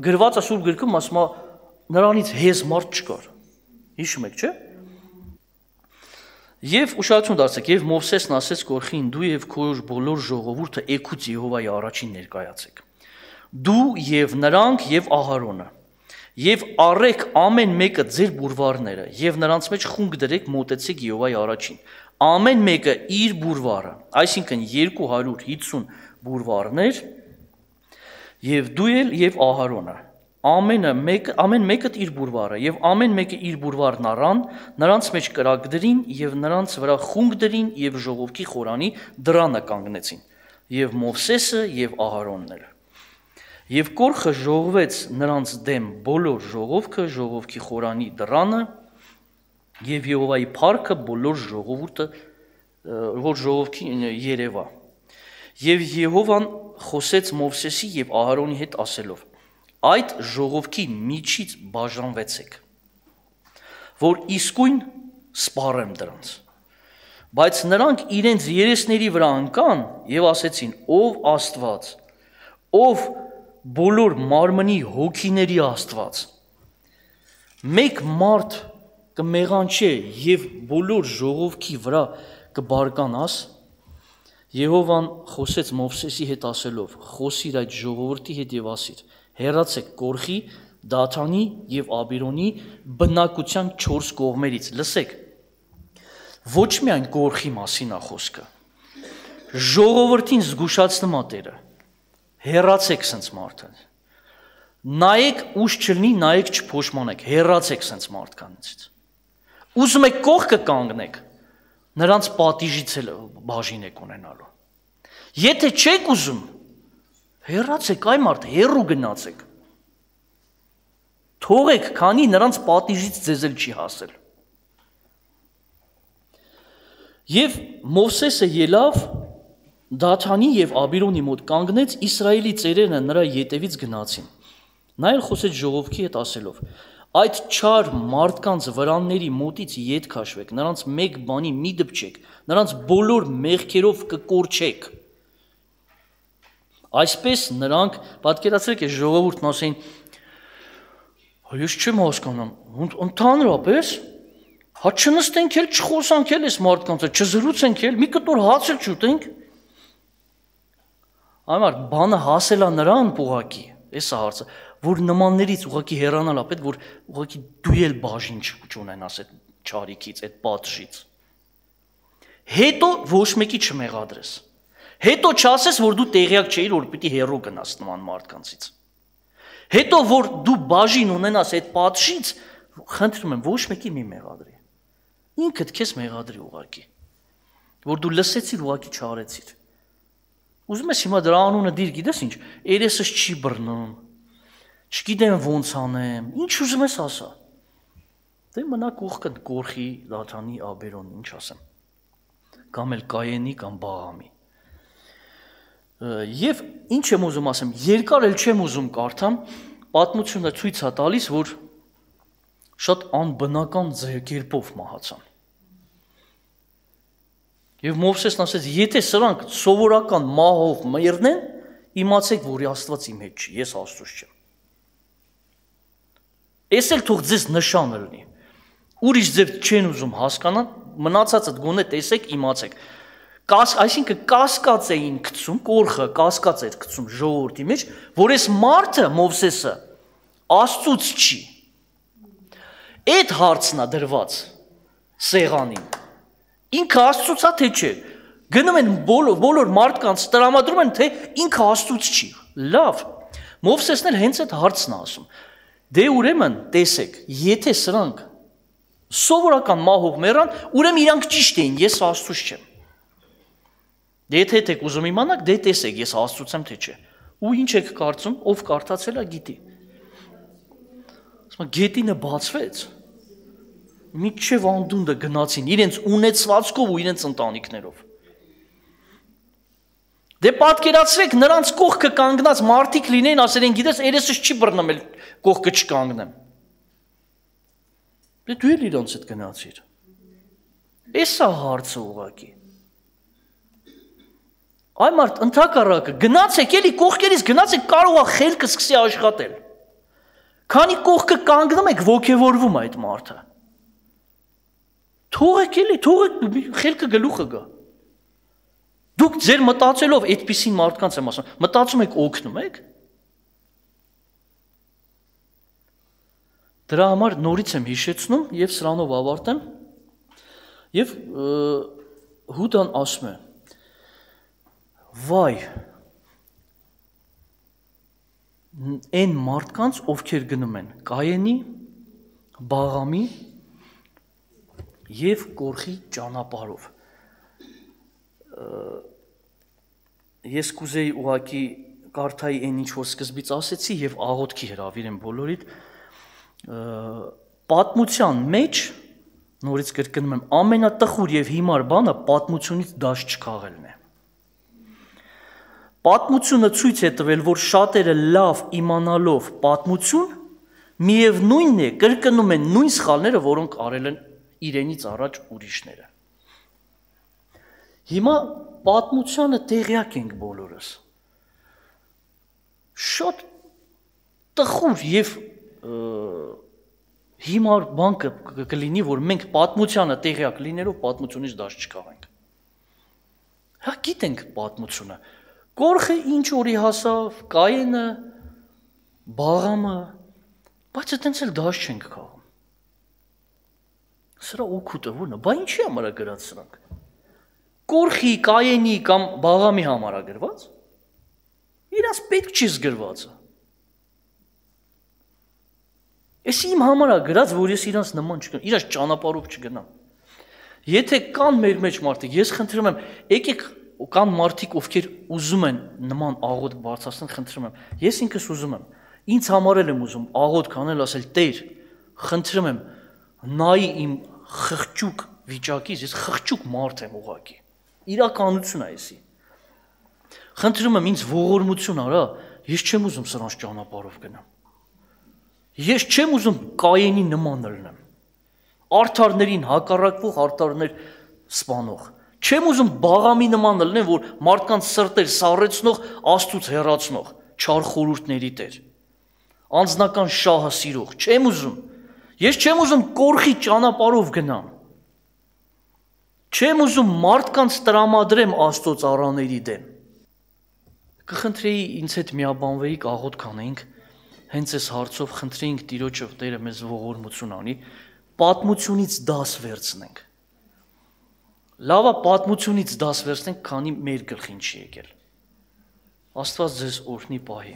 Speaker 1: գրված է Սուրբ գրքում, ասում է, նրանից հեզ մարդ չկար։ Հիշում եք, չէ՞։ Եվ ուշադրություն դարձեք, եւ Մովսեսն ասեց Կորխին, դու եւ քո բոլոր ժողովուրդը եկուց Եհովայի առաջին ներկայացեք։ Դու եւ նրանք եւ Ահարոնը։ Եվ առեք ամեն մեկը ձեր բուրվարները, եւ նրանց մեջ խունկ դրեք մոտեցեք Եհովայի առաջին։ Ամեն մեկը իր բուրվարը, այսինքն երկու հարյուր հիսուն բուրվարներ, եւ դու էլ եւ Ահարոնը։ ամենը մեկ ամեն մեկը իր բուրվարը եւ ամեն մեկը իր բուրվարն առան, նրանց մեջ կրակ դրին եւ նրանց վրա խունկ դրին եւ ժողովքի խորանի դրանը կանգնեցին եւ Մովսեսը եւ Ահարոնն էլ։ Եվ կորխը ժողվեց նրանց դեմ բոլոր ժողովքը ժողովքի խորանի դրանը եւ Եհովայի փառքը բոլոր ժողովուրդը որ ժողովքին երևա։ Եվ Եհովան խոսեց Մովսեսի եւ Ահարոնի հետ ասելով. այդ ժողովքի միջից բաժանվեցեք, որ իսկույն սպառեմ դրանց։ Բայց նրանք իրենց երեսների վրա ընկան եւ ասեցին. ով Աստված, ով բոլոր մարմնի հոգիների Աստված, մեկ մարդ կմեղանչե եւ բոլոր ժողովքի վրա կբարկանաս։ Եհովան խոսեց Մովսեսի հետ ասելով. խոսիր այդ ժողովրդի հետ եւ ասիր. հեռացեք կորխի, Դաթանի եւ Աբիրոնի բնակության չորս կողմերից։ Լսեք, ոչ միայն կորխի մասին է խոսքը, ժողովրդին զգուշացնում է Տերը, հեռացեք սենց մարդը, նայեք ուշ չլինի, նայեք չփոշմանեք, հեռացեք սենց մարդկանցից։ Ուզում եք կողքը կանգնեք, նրանց պատիժից էլ բաժին եք ունենալու։ Եթե չեք ուզում, հեռացեք այ մարդ, հեռու գնացեք։ Թողեք, քանի նրանց պատիժից ձեզ էլ չի հասել։ Եվ Մովսեսը ելավ Դաթանի եւ Աբիրոնի մոտ կանգնեց, Իսրայելի ծերերը նրա ետևից գնացին։ Նա էլ խոսեց ժողովքի հետ ասելով. այդ չար մարդկանց վրանների մոտից ետ քաշվեք, նրանց մեկ բանի մի դպչեք, նրանց բոլոր մեղքերով կկորչեք։ Այսպես նրանք, պատկերացրեք, այս ժողովուրդն ասեն, ես չեմ հասկանում, ընդհանրապես, հա չնստենք էլ, չխոսանք էլ այս մարդկանց, չզրուցենք էլ, մի կտոր հաց էլ չուտենք։ Այմար, բանը հասել է նրան ուղղակի, այս է հարցը, որ նմաններից ուղղակի հեռանալ է պետք, որ ուղղակի դու էլ բաժին չունենաս այդ չարիքից, այդ պատժից։ Հետո ոչ մեկի չմեղադրես։ Հետո չասես, որ դու տեղյակ չէիր, որ պիտի հեռու գնաս նման մարդկանցից։ Հետո որ դու բաժին ունենաս այդ պատժից, խնդրում եմ, ոչ մեկի մի մեղադրի։ Ինքդ քեզ մեղադրի ուղղակի, որ դու լսեցիր, ուղղակի չարեցիր։ Ուզում ես հիմա դրա անունը դիր, գիտես ինչ, երեսս չի բռնում, չգիտեմ ոնց անեմ, ինչ ուզում ես ասա։ Դե մնա կողքը կորխի, Դաթանի, Աբերոնի, ինչ ասեմ։ Կամ էլ Կայենի, կամ Բաղամի։ Եվ ինչ եմ ուզում ասեմ, երկար էլ չեմ ուզում կարդամ, պատմությունը ցույց է տալիս, որ շատ անբնական կերպով մահացան։ Եվ Մովսեսն ասեց, եթե սրանք սովորական մահով մեռնեն, իմացեք, որ Աստված իմ հետ չի, ես Աստծուց չեմ։ Էս էլ թող ձեզ նշանը լինի։ Ուրիշ ձև չեն ուզում հասկանալ, մնացածը գոնե տեսեք, իմացեք։ Այսինքն կասկած էին գցում, կորխը կասկած էր գցում ժողովրդի մեջ, որ այս մարդը Մովսեսը Աստծուց չի։ Այդ հարցն է դրված սեղանին։ Ինքը Աստծուց է թե չէ։ Գնում են բոլոր բոլոր մարդկանց տրամադրում են, թե ինքը Աստծուց չի։ Լավ։ Մովսեսն էլ հենց այդ հարցն է ասում։ Դե ուրեմն տեսեք, եթե սրանք սովորական մահով մեռան, ուրեմն իրանք ճիշտ էին, ես Աստծուց չեմ։ Դե եթե եք ուզում իմանաք, դե տեսեք, ես Աստծուց եմ թե չէ։ Ու ինչ եք կարծում, ով կարդացել է գիտի։ Ասում գետինը բացվեց։ Միջև անդունդը գնացին իրենց ունեցվածքով ու իրենց ընտանիքներով։ Դե պատկերացրեք, նրանց կողքը կանգնած մարդիկ լինեն, ասեն, գիտես, երեսս չի բռնում, էլ կողքը չկանգնեմ։ Դե դու էլ իրանց հետ գնացիր։ Էս է հարցը ուղղակի։ Այ մարդ, ընդհակառակը, գնացեք, էլի կողքերից գնացեք, կարող է խելքը սկսի աշխատել։ Քանի կողքը կանգնում եք, ոգևորվում այդ մարդը։ Թողեք էլի, թողեք խելքը գլուխը գա։ Դուք ձեր մտածելով այդպիսին մարդկանց եմ ասում, մտածում եք օգնում եք։ Դրա համար նորից եմ հիշեցնում եւ սրանով ավարտեմ։ Եվ Հուդան ասում է. Վայ, այն մարդկանց, ովքեր գնում են Կայենի, Բաղամի եւ Կորխի ճանապարհով։ Ես կուզեի ուղակի կարդայի այն ինչ որ սկզբից ասեցի եւ աղոթքի հրավիրեմ բոլորիդ պատմության մեջ նորից կրկնում եմ ամենատխուր եւ հիմար բանը պատմությունից դաշ չքաղելն է։ Պատմությունը ցույց է տվել, որ շատերը լավ իմանալով պատմություն միևնույնն է կրկնում են նույն սխալները, որոնք արել են իրենից առաջ ուրիշները։ Հիմա պատմությանը տեղյակ ենք բոլորս։ Շատ տխուր եւ հիմար բան կլինի, որ մենք պատմությանը տեղյակ լինելով պատմությունից դաշ չքաղենք։ Հա գիտենք պատմությունը։ Կորխը ինչ օրի հասավ, Կայենը, Բաղամը, բայց այդտենց էլ դաշ չենք քաղում։ Սրա օգուտը ո՞րն է, բա ինչի համար է գրած սրանք։ Կորխի, Կայենի կամ Բաղամի համար է գրված։ Իրաց պետք չի զգրվածը։ Էս իմ համար է գրած, որ ես իրանց նման չգնամ, իրաց ճանապարհով չգնամ։ Եթե կան մեր մեջ մարդիկ, ես խնդրում եմ, եկեք կան մարդիկ, ովքեր ուզում են նման աղոթք բարձրացնել, խնդրում եմ։ Ես ինքս ուզում եմ, ինձ համար էլ եմ ուզում աղոթք անել, ասել Տեր, խնդրում եմ, նայի իմ խղճուկ վիճակից, ես խղճուկ մարդ եմ ուղղակի։ Իրականություն է էսի։ Խնդրում եմ ինձ ողորմություն արա, ես չեմ ուզում սրանց ճանապարհով գնամ։ Ես չեմ ուզում Կայենի նման լինեմ։ Արդարներին հակառակվող, արդարներ սպանող։ Չեմ ուզում Բաղամի նման լինեմ, որ մարդկանց սրտեր սառեցնող, Աստծուց հեռացնող, չար խորհուրդների տեր։ Անձնական շահը սիրող, չեմ ուզում։ Ես չեմ ուզում Կորխի ճանապարհով գնամ։ Չեմ ուզում մարդկանց տրամադրեմ Աստծո ծառաների դեմ։ Կխնդրեի ինձ հետ միաբանվեիք աղոթք անեինք, հենց այս հարցով խնդրեինք Տիրոջը Տերը մեզ ողորմություն անի, պատմությունից դաս վերցնենք։ Լավա պատմությունից դաս վերցնենք, քանի մեր գլխին չի եկել։ Աստված ձեզ օրհնի պահի։